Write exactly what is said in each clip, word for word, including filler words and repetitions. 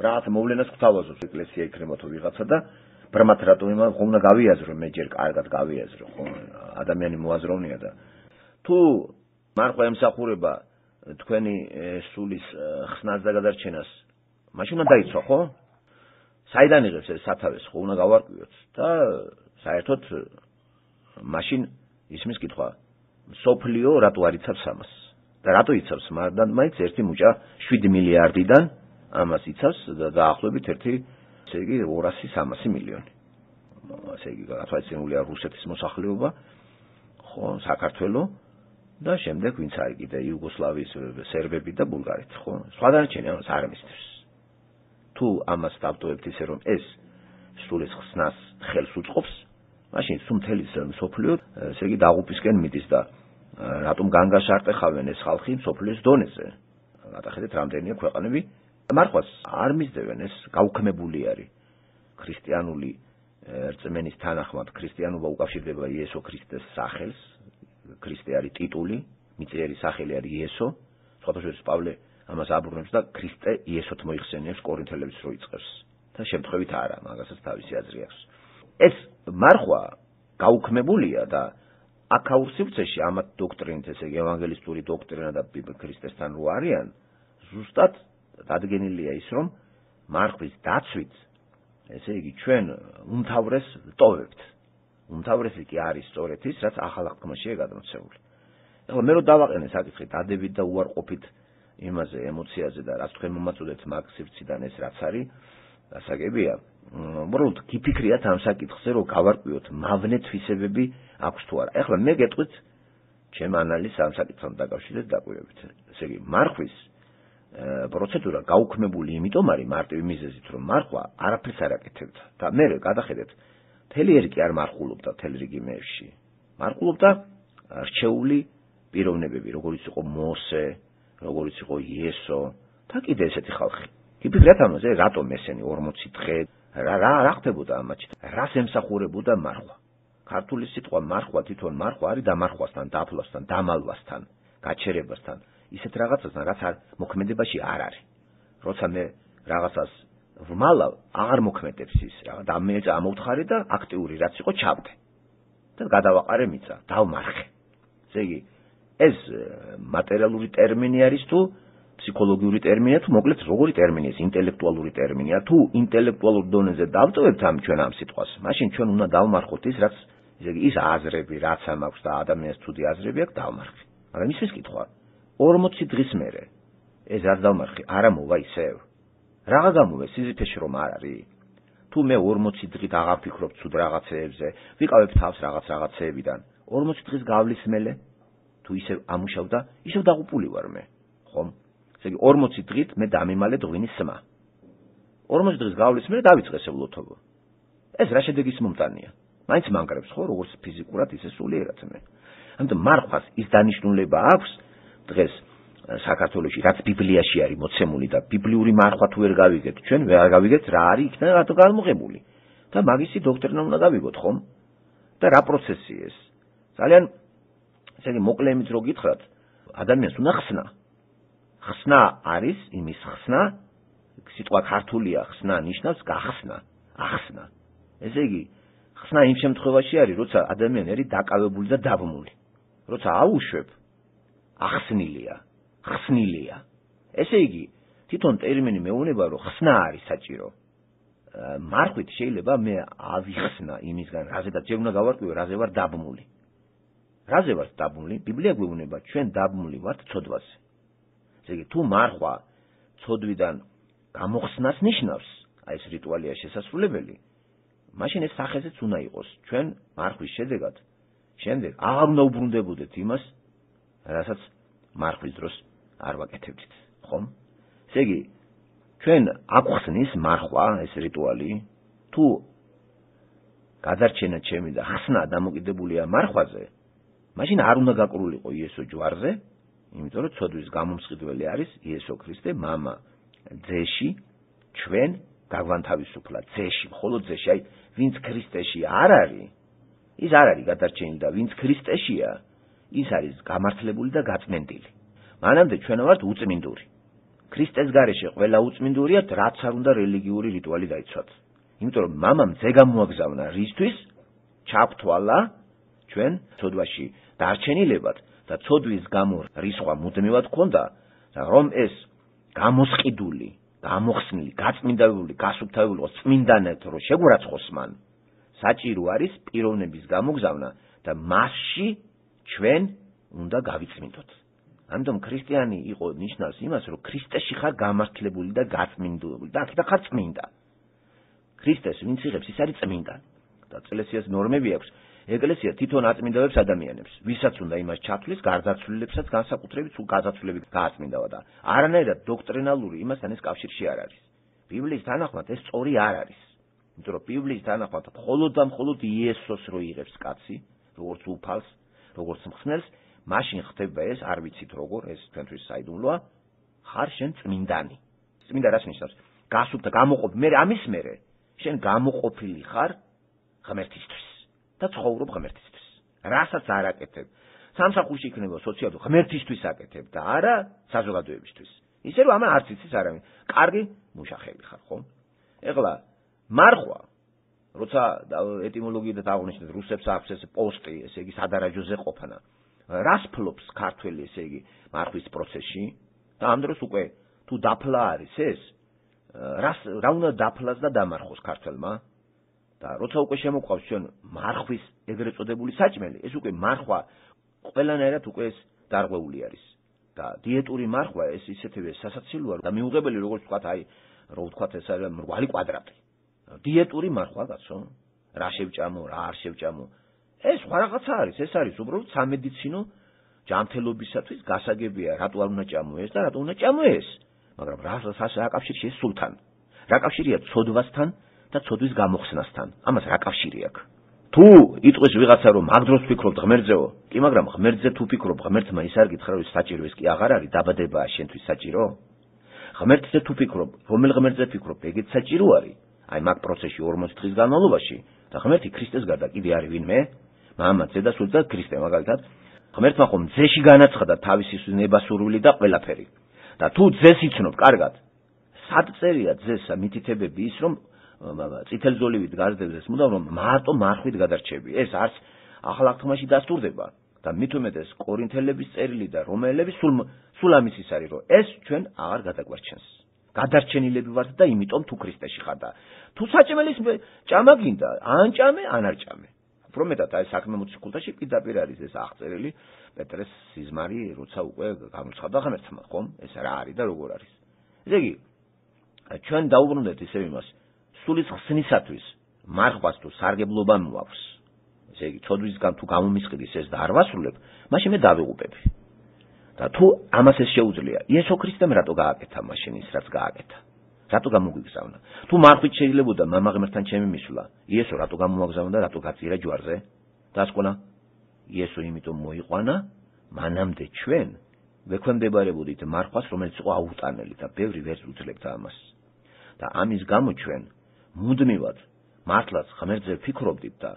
რაღაც მოვლენას გვთავაზობს ეკლესია იქნება თუ ვიღაცა და ბრმად რატო იმან ხომ უნდა გავიაზრო მე ჯერ კარგად გავიაზრო ხო ადამიანი მოაზროვნია და თუ მარხვა ემსახურება თქვენი სულის ხსნას და გადარჩენას მაშინ უნდა დაიცვა ხო საიდან იღებს ეს სათავეს ხო უნდა გავარკვიოთ და საერთოდ მაშინ ისმის კითხვა სოფლიო რატო არ იცავს ამას და რატო იცავს მაგრამ მაინც ერთი მუჭა შვიდი მილიარდიდან ამას იცავს და დაახლოებით ერთი ესე იგი ორასი სამასი მილიონი ესე იგი გათვალისწინებულია რუსეთის მოსახლეობა ხო საქართველო და შემდეგ ვინც არის კიდე იუგოსლავიის სერბები და ბულგარეთი ხო სხვა დანარჩენი ამას არ მისდევს თუ ამას დავტოვებთ ისე რომ ეს სულის ხსნას ხელს უწყობს მაშინ სულ მთელი სოფლიო ესე იგი დაღუპისკენ მიდის და რატომ განგაშარტეხავენ ეს ხალხი სოფლიოს დონეზე გადახედეთ რამდენია ქვეყანები მარხვას არ მისდევენ ეს გაუქმებული არის ქრისტიანული რწმენის თანახმად ქრისტიანობა უკავშირდება იესო ქრისტეს სახელს ქრისტე არის ტიტული მიწიერი სახელი არის იესო სხვადასხვა პავლე ამას აბრუნებს და ქრისტე იესოთ მოიხსენიებს კორინთელებს რო იწყებს და შემთხვევით არა მაგასაც თავისი აზრი აქვს ეს მარხვა გაუქმებულია და აქაურ სივრცეში ამათ დოქტრინით ესე იგი ევანგელისტური დოქტრინა და ქრისტესთან რო არიან ზუსტად დადგენილია ის რომ მარხვის დაცვით ესე იგი ჩვენ უმთავრეს ტოვებთ უმთავრესი კი არის სწორედ ის რაც ახალ აღთქმაშია გადმოცემული ეხლა მე რო დავაყენე საკითხი დადებით და უარყოფით იმაზე ემოციაზე და რაც თქვენ მომაწოდეთ მაგ სივრციდან ეს რაც არის გასაგებია უბრალოდ გიფიქრიათ ამ საკითხზე რომ გავარკვიოთ მავნე თვისებები აქვს თუ არა ეხლა მე გეტყვით ჩემ ანალიზს ამ საკითხთან დაკავშირებით დაკვირვებით ესე იგი მარხვის პროცედურა გაუქმებული იმიტომ არის მარტივი მიზეზით რომ მარხვა არაფერს არ აკეთებდა და მე გადახედეთ მთელი ერი კი არ მარხულობდა მთელ რიგი მეებში მარხულობდა რჩეული პიროვნებები როგორიც იყო მოსე როგორიც იყო იესო და კიდე ესეთი ხალხი გიფიქრეთ ამაზე რატომ ესენი ორმოცი დღე რა რა რა ხდებოდა ამაში რას ემსახურებოდა მარხვა ქართული სიტყვა მარხვა თვითონ მარხვა არის დამარხვასთან დაფლასთან დამალვასთან გაჩერებასთან ისეთ რაღაცასთან რაც არ მოქმედებაში არ არის როცა მე რაღაცას ვმალავ აღარ მოქმედებს ის რა და მე ამოვთხარი და აქტიური რაც იყო ჩავდე და გადავაყარე მიწა დავმარხე ესე იგი ეს მატერიალური ტერმინი არის თუ ფსიქოლოგიური ტერმინია თუ მოკლედ როგორი ტერმინია ეს ინტელექტუალური ტერმინია თუ ინტელექტუალურ დონეზე დავტოვებთ ამ ჩვენ ამ სიტყვას მაშინ ჩვენ უნდა დავმარხოთ ის რაც ესე იგი ის აზრები რაც ამ აქვს და ადამიანს თუდი აზრები აქვს დავმარხე მაგრამ ისმის კითხვა ორმოცი დღის მერე ეს არ დავმარხე არა მოვა ისევ რაღა გამოვა სიზიფეში რომ არ არის თუ მე ორმოცი დღით აღარ ვფიქრობ ცუდ რაღაცეებზე ვიყავებ თავს რაღაც რაღაცეებიდან ორმოცი დღის გავლის მელე თუ ისევ ამუშავ და ისევ დაღუპული ვარ მე ხომ ესე იგი ორმოცი დღით მე დამიმალე ღვინის სმა ორმოცი დღის გავლის მერე დავიწყე სეულოთობო ეს რა შედეგის მომტანია მაინც მანგრებს ხო როგორც ფიზიკურად ისე სულიერად მე ამიტომ მარხვას ის დანიშნულება აქვს დღეს საქართველოში რაც ბიბლიაში არის მოცემული და ბიბლიური მარხვა თუ ვერ გავიგეთ ჩვენ ვერ გავიგეთ რა არის იქნება რატო გამოღებული და მაგისი დოქტრინა უნდა გავიგოთ ხომ და რა პროცესია ეს ძალიან ესე იგი მოკლე იმით რო გითხრათ ადამიანს უნდა ხსნა ხსნა არის იმის ხსნა სიტყვა ქართულია ხსნა ნიშნავს გახსნა ახსნა ესე იგი ხსნა იმ შემთხვევაში არის როცა ადამიანი არის დაკავებული და დაბმული როცა აუშვებ ახსნილია ხსნილია ესე იგი თვითონ ტერმინი მეუბნება რომ ხსნა არის საჭირო მარხვით შეიძლება მე ავიხსნა იმისგან რაზედაც ჯერ უნდა გავარკვიო რაზე ვარ დაბმული რაზე ვარ დაბმული ბიბლია გვეუბნება ჩვენ დაბმული ვართ ცოდვაზე ესე იგი თუ მარხვა ცოდვიდან გამოხსნას ნიშნავს აი ეს რიტუალია შესასრულებელი მაშინ ეს სახეზეც უნდა იყოს ჩვენ მარხვის შედეგად შემდეგ აღარ უნდა უბრუნდებოდეთ იმას რასაც მარხვის დროს არ ვაკეთებდით ხომ ესე იგი ჩვენ აგვხსნის მარხვა ეს რიტუალი თუ გადარჩენა ჩემი და ხსნა დამოკიდებულია მარხვაზე მაშინ არ უნდა გაკრულიყო იესო ჯვარზე იმიტომ რომ ცოდვის გამომსყიდველი არის იესო ქრისტე მამა ძეში ჩვენ გაგვანთავისუფლა ძეში მხოლოდ ძეში აი ვინც ქრისტეში არ არის ის არ არის გადარჩენილი და ვინც ქრისტეშია ის არის გამართლებული და გაწმენდილი მანამდე ჩვენ ვართ უწმინდური ქრისტეს გარეშე ყველა უწმინდურია, რაც არ უნდა რელიგიური რიტუალი დაიცვათ. იმიტომ რომ მამამ ძე გამოაგზავნა რისთვის ჩაგვთვალა ჩვენ ცოდვაში დარჩენილებად და ცოდვის გამო რისხვა მუდმივად ქონდა და რომ ეს გამოსყიდული, გამოხსნილი, გაწმინდებული, გასუფთავებული იყოს წმინდანად რომ შეგვარაცხოს მან საჭირო არის პიროვნების გამოგზავნა და მასში ჩვენ უნდა გავიწმინდოთ. ამიტომ ქრისტიანი იყო ნიშნავს იმას, რომ ქრისტეში ხარ გამართლებული და გაწმინდებული და აქედან ხარ წმინდა. ქრისტეს ვინც იღებს, ის არის წმინდა. და ეკლესიას ნორმები აქვს. ეკლესია თვითონ აწმინდავებს ადამიანებს, ვისაც უნდა იმას ჩათვლის, გარდაცვლილებსაც განსაკუთრებით სულ გაზაცვლებით გააწმინდავა და არანაირად დოქტრინალური იმასთან ეს კავშირში არ არის. ბიბლიის თანახმად ეს სწორი არ არის. იმიტომ რომ ბიბლიის თანახმად მხოლოდ და მხოლოდ იესოს რო იღებს კაცი, როგორც უფალს, როგორც მხსნელს, მაშინ ხდება ეს, არ ვიცით როგორ, ეს თქვენთვის საიდუმლოა, ხარ შენ წმინდანი. წმინდა რას ნიშნავს? გასუფთა, გამოყოფ, მე ამის მერე შენ გამოყოფილი ხარ ღმერთისთვის და ცხოვრობ ღმერთისთვის. რასაც არ აკეთებ, სამსახურში იქნება სოციალურ ღმერთისთვის აკეთებ და არა საზოგადოებისთვის. ისე რომ ამა არც იცის არავინ. კარგი მუშახელი ხარ, ხო? ეხლა მარხვა, როცა ეტიმოლოგიიდან აღნიშნეთ, რუსებს აქვს ეს პოსტი, ესე იგი სადარაჯოზე ყოფნა. რას ფლობს ქართველი, ესე იგი, მარხვის პროცესში? და ამ დროს უკვე თუ დაფლა არის ეს, რას რა უნდა დაფლას და დამარხოს ქართველმა? და როცა უკვე შემოყვავს ჩვენ მარხვის ეგრეთ წოდებული საჭმელი, ეს უკვე მარხვა ყველანაირად უკვე ეს დარღვეული არის. და დიეტური მარხვა ეს ისეთივე სასაცილოა და მიუღებელი როგორც ვთქვათ, აი, რო ვთქვათ ეს არის მრგვალი კვადრატი. დიეტური მარხვა კაცო, რა შევჭამო, რა არ შევჭამო. ეს სხვა რაღაცა არის, ეს არის უბრალოდ სამედიცინო ჯანმრთელობისათვის გასაგებია, რატო არ უნდა ჭამო ეს და რატო უნდა ჭამო ეს. მაგრამ რა რა კავშირია ეს სულთან? რა კავშირია ცოდვასთან და ცოდვის გამოხსნასთან? ამას რა კავშირი აქვს? თუ იტყვის ვიღაცა რომ მაგ დროს ფიქრობ ღმერთზეო, კი მაგრამ ღმერთზე თუ ფიქრობ, ღმერთმა ის არ გითხრა რომ საჭირო ეს კი აღარ არის, დაბადებაა შენთვის საჭირო? ღმერთზე თუ ფიქრობ, რომელ ღმერთზე ფიქრობ, ეგეც საჭირო არის? აი მაგ პროცესში ორმოცი დღის განმავლობაში და ღმერთი ქრისტეს გარდა კიდე არის ვინმე? მამა, ძე და სული და ქრისტე მაგალითად. ღმერთმა ხომ ძეში განაცხადა თავისი ნებასურვილი და ყველაფერი. და თუ ძეს იცნობ კარგად, სად წერია ძეს მითითებები ის რომ წითელ ზოლივით გაზრდებს მუდამ რომ მარტო მარხვით გადარჩები. ეს არც ახალ აღთქმაში დასტურდება და მით უმეტეს კორინთელების წერილი და რომაელების სულ სულ ამის ის არის რომ ეს ჩვენ აღარ გადაგვარჩენს. გადარჩენილები ვართ და იმიტომ თუ ქრისტეში ხარ და თუ საჭმელის ჭამა გინდა, ან ჭამე, ან არ ჭამე. უფრო მეტად აი საქმე მოციქულთაში პირდაპირ არის ეს აღწერილი პეტრეს სიზმარი, როცა უკვე გამოცხადდა ღმერთმა, ხომ? ეს რა არის და როგორ არის. ესე იგი, ჩვენ დაუბრუნდეთ ისე იმას, სულის ხსნისათვის მარხვას თუ სარგებლობა მოაქვს. ესე იგი, ცოდვისგან თუ გამომისყიდის ეს და არ ვასრულებ, მაშინ მე დავიღუპები. და თუ ამას ეს შეუძლია, იესო ქრისტემ რატო გააკეთა მაშინ ის რაც გააკეთა? რატო გამოგვიგზავნა? თუ მარხვით შეიძლებოდა მამა ღმერთთან ჩემი მისვლა, იესო რატო გამოაგზავნა და რატო გაწირა ჯვარზე? დასკვნა, იესო იმიტომ მოიყვანა, მანამდე ჩვენ ვექვემდებარებოდით მარხვას, რომელიც იყო აუტანელი და ბევრი ვერ უძლებდა ამას. და ამის გამო ჩვენ მუდმივად მართლაც ღმერთზე ფიქრობდით და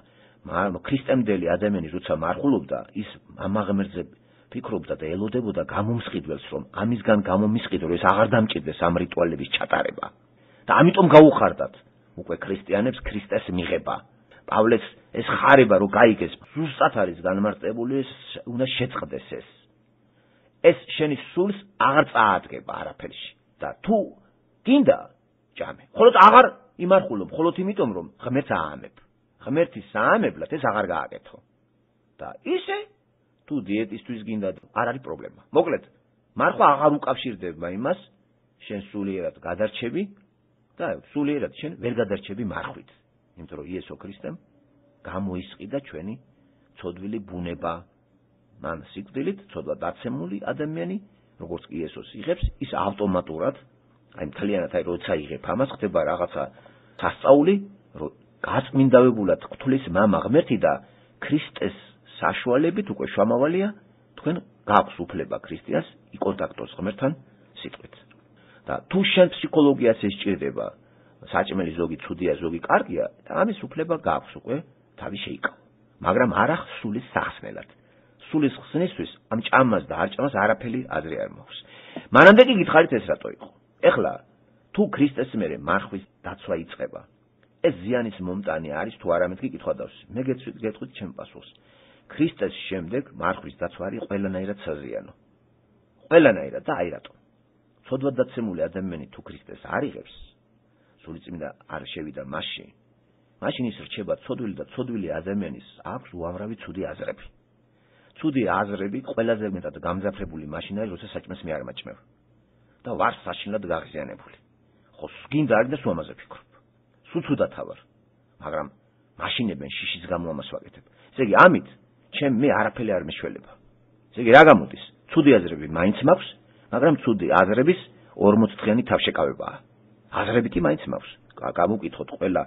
ქრისტემდელი ადამიანი როცა მარხულობდა, ის მამა ღმერთზე ფიქრობდა და ელოდებოდა გამომსყიდველს, რომ ამისგან გამომისყიდო, რომ ეს აღარ დამჭირდეს ამ რიტუალების ჩატარება. და ამიტომ გაუხარდათ უკვე ქრისტიანებს ქრისტეს მიღება. პავლეს ეს ხარება რომ გაიგეს, ზუსტად არის განმარტებული, ეს უნდა შეწყდეს ეს. ეს შენი სულს აღარ წაადგება არაფერში. და თუ გინდა ჭამე. ხოლოდ აღარ იმარხულობ, ხოლოდ იმიტომ რომ ღმერთს აამებ. ღმერთის აამებლად ეს აღარ გააკეთო. და ისე თუ დიეტისთვის გინდა არ არის პრობლემა. მოკლედ, მარხვა აღარ უკავშირდება იმას, შენ სულიერად გადარჩები და სულიერად შენ ვერ გადარჩები მარხვით. იმიტომ რომ იესო ქრისტემ გამოისყიდა ჩვენი ცოდვილი ბუნება. მან სიკვდილით ცოდვა დაცემული ადამიანი, როგორც კი იესოს იღებს, ის ავტომატურად, აი მთლიანად აი როცა იღებ ამას, ხდება რაღაცა სასწაული, რომ გაწმინდავებულად გთვლის მამა ღმერთი და ქრისტეს საშუალებით უკვე შამავალია თქვენ გაქვს უფლება ქრისტიანს იკონტაქტოს ღმერთთან სიტყვით. და თუ შენ ფსიქოლოგიას ესჭირდება, საჭმელი ზოგი ცუდია, ზოგი კარგია, და ამის უფლება გაქვს უკვე თავი შეიკავ. მაგრამ არა სულის სახსნელად. სულის ხსნისთვის ამ ჭამას და არ ჭამას არაფერი აზრი არ მაქვს. მანამდე კი გითხარით ეს რატო იყო. ეხლა თუ ქრისტეს მერე მარხვის დაცვა იწყება, ეს ზიანის მომტანი არის თუ არა მეთქი კითხვა დავს. მე გეტყვით ჩემ პასუხს. ქრისტეს შემდეგ მარხვის დაცვა არის ყველანაირად საზიანო. ყველანაირად და აი რატო. ცოდვად დაცემული ადამიანი თუ ქრისტეს არ იღებს, სულიწმინდა არ შევიდა მასში, მაშინ ის რჩება ცოდვილი და ცოდვილი ადამიანის აქვს უამრავი ცუდი აზრები. ცუდი აზრები ყველაზე მეტად გამძაფრებული მაშინ არის, როცა საჭმელს მე არ მაჭმევ და ვარ საშინლად გაღიზიანებული. ხო, გინდა არის და სულ ამაზე ვფიქრობ. სულ ცუდად ვარ, მაგრამ მაშინებენ შიშის გამო ამას ვაკეთებ. ესე იგი, ამით ჩემ მე არაფერი არ მეშველება. ესე იგი, რა გამოდის? ცუდი აზრები მაინც მაქვს, მაგრამ ცუდი აზრების ორმოც დღიანი თავშეკავებაა. აზრები კი მაინც მაქვს. გამოვკითხოთ ყველა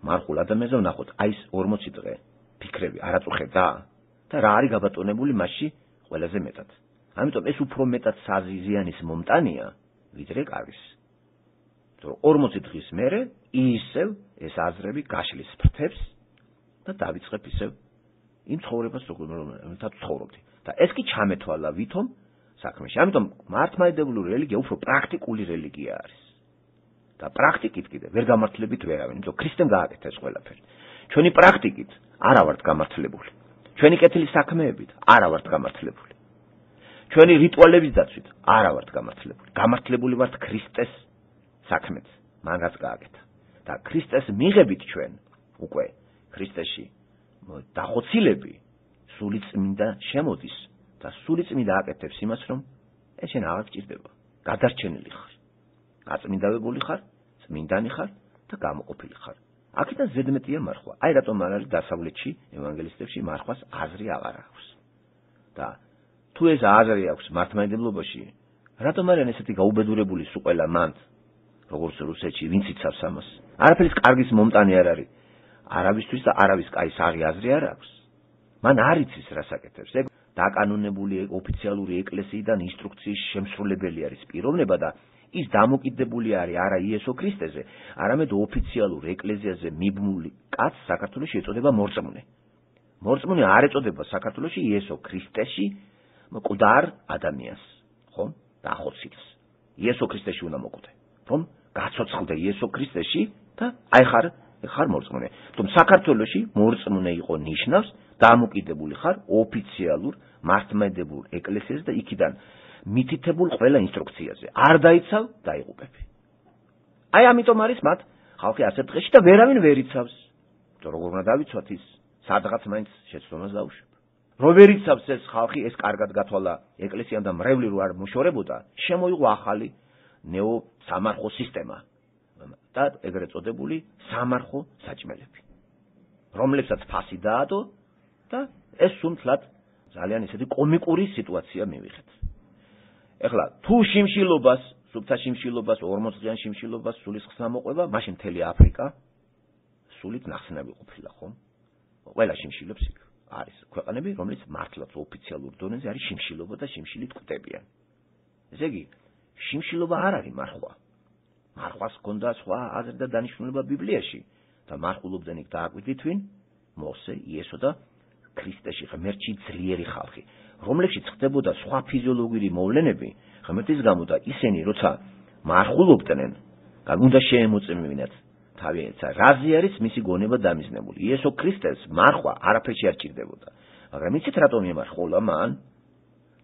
მარხულ ადამიანზე ვნახოთ, აი ეს ორმოცი დღე ფიქრები არაწუხებდა და რა არის გაბატონებული მასში ყველაზე მეტად. ამიტომ ეს უფრო მეტად საზიანის მომტანია, ვიდრე კარგის. თორე ორმოცი დღის მერე ისევ ეს აზრები გაშლის ფრთებს და დავიწყებ ისევ იმ ცხოვრებას, რომელთაც ცხოვრობდი. და ეს კი ჩამეთვალა ვითომ საქმეში. ამიტომ მართლმადიდებლური რელიგია უფრო პრაქტიკული რელიგია არის. და პრაქტიკით კიდე ვერ გამართლებით ვერავინ, იმიტომ ქრისტემ გააკეთა ეს ყველაფერი. ჩვენი პრაქტიკით არა ვართ გამართლებული. ჩვენი კეთილი საქმეებით არა ვართ გამართლებული. ჩვენი რიტუალების დაცვით არა ვართ გამართლებული. გამართლებული ვართ ქრისტეს საქმეთ, მაგაც გააკეთა. და ქრისტეს მიღებით ჩვენ უკვე ქრისტეში დახოცილები სულიწმინდა შემოდის და სულიწმინდა აკეთებს იმას, რომ ეს შენ აღარ გჭირდება. გადარჩენილი ხარ. გაწმინდავებული ხარ, წმინდანი ხარ და გამოყოფილი ხარ. აქედან ზედმეტია მარხვა. აი რატომ არ არის დასავლეთში, ევანგელისტებში მარხვას აზრი აღარ აქვს. და თუ ეს აზრი აქვს მართლმადიდებლობაში, რატომ არიან ესეთი გაუბედურებული სულ ყველა მანდ, როგორც რუსეთში, ვინც იცავს ამას? არაფერის კარგის მომტანი არ არის. არავისთვის და არავის კაის აღი აზრი არ აქვს. მან არ იცის რას აკეთებს. ეგ დაკანონებული ოფიციალური ეკლესიიდან ინსტრუქციის შემსრულებელი არის პიროვნება და ის დამოკიდებული არის არა იესო ქრისტეზე, არამედ ოფიციალურ ეკლესიაზე მიბმული კაცს საქართველოში ეწოდება მორწმუნე. მორწმუნე არ ეწოდება საქართველოში იესო ქრისტეში მკვდარ ადამიანს, ხომ? დახოცილს. იესო ქრისტეში უნდა მოკვდე, რომ გაცოცხლდე იესო ქრისტეში და აი ხარ, ხარ მორწმუნე. თუმ საქართველოში მორწმუნე იყო ნიშნავს დამოკიდებული ხარ ოფიციალურ მართლმადიდებლურ ეკლესიაზე და იქიდან მითითებულ ყველა ინსტრუქციაზე. არ დაიცავ, დაიღუპები. აი ამიტომ არის მათ ხალხი ასეთ დღეში და ვერავინ ვერ იცავს. იმიტომ როგორ უნდა დავიცვათ ის სადღაც მაინც შეცდომას დაუშვებ. რო ვერ იცავს ეს ხალხი, ეს კარგად გათვალა ეკლესიამ და მრევლი რო არ მოშორებოდა, შემოიღო ახალი ნეო სამარხო სისტემა და ეგრეთ წოდებული სამარხო საჭმელები, რომლებსაც ფასი დაადო და ეს სულ-მთლად ძალიან ისეთი კომიკური სიტუაცია მივიღეთ. ეხლა თუ შიმშილობას, სუფთა შიმშილობას, ორმოცდღიან შიმშილობას სულის ხსნა მოყვება, მაშინ მთელი აფრიკა სულით ნახსნები ყოფილა, ხომ? ყველა შიმშილობს იქ არის ქვეყნები, რომელიც მართლაც ოფიციალურ დონეზე არის შიმშილობა და შიმშილით კვდებიან. ესე იგი, შიმშილობა არ არის მარხვა. მარხვას ჰქონდა სხვა აზრი და დანიშნულება ბიბლიაში და მარხულობდნენ იქ დააკვირდით ვინ? მოსე, იესო და ქრისტეში ღმერთში ძლიერი ხალხი, რომლებშიც ხდებოდა სხვა ფიზიოლოგიური მოვლენები, ღმერთის გამო და ისინი როცა მარხულობდნენ, უნდა შეემოწმებინათ თავიანთ რაზე არის მისი გონება დამიზნებული. იესო ქრისტეს მარხვა არაფერში არ ჭირდებოდა. მაგრამ იცით რატომ ემარხულა მან?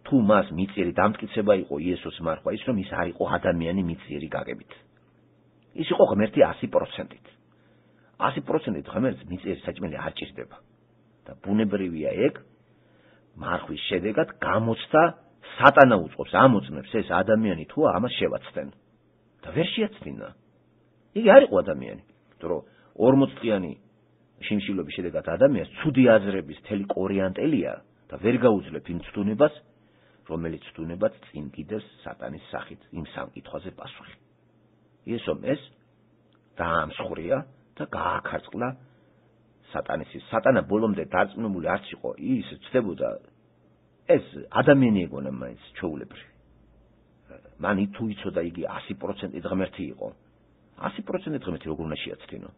თუ მას მიწიერი დამტკიცება იყო იესოს მარხვა, ის რომ ის არ იყო ადამიანი მიწიერი გაგებით. ის იყო ღმერთი ასი პროცენტით. ასი პროცენტით ღმერთს მიწიერი საჭმელი არ ჭირდება. და ბუნებრივია ეგ მარხვის შედეგად გამოცდა სატანა უწყობს, ამოწმებს ეს ადამიანი თუ ამას შევაცდენ. და ვერ შეაცდინა. იგი არ იყო ადამიანი, იმიტომ რომ ორმოცდღიანი შიმშილობის შედეგად ადამიანს ცუდი აზრების მთელი კორიანტელია და ვერ გაუძლებ იმ ცდუნებას, რომელიც ცდუნებაც წინ კიდევს სატანის სახით იმ სამკითხვაზე პასუხი. იესომ ეს დაამსხვრია და გააქარწყლა სატანის. სატანა ბოლომდე დარწმუნებული არც იყო, ის ცდებოდა ეს ადამიანი ეგონა მაინც ჩვეულებრივი. მან თუ იცოდა იგი ასი პროცენტით ღმერთი იყო. ასი პროცენტით ღმერთი როგორ უნდა შეაცდინო?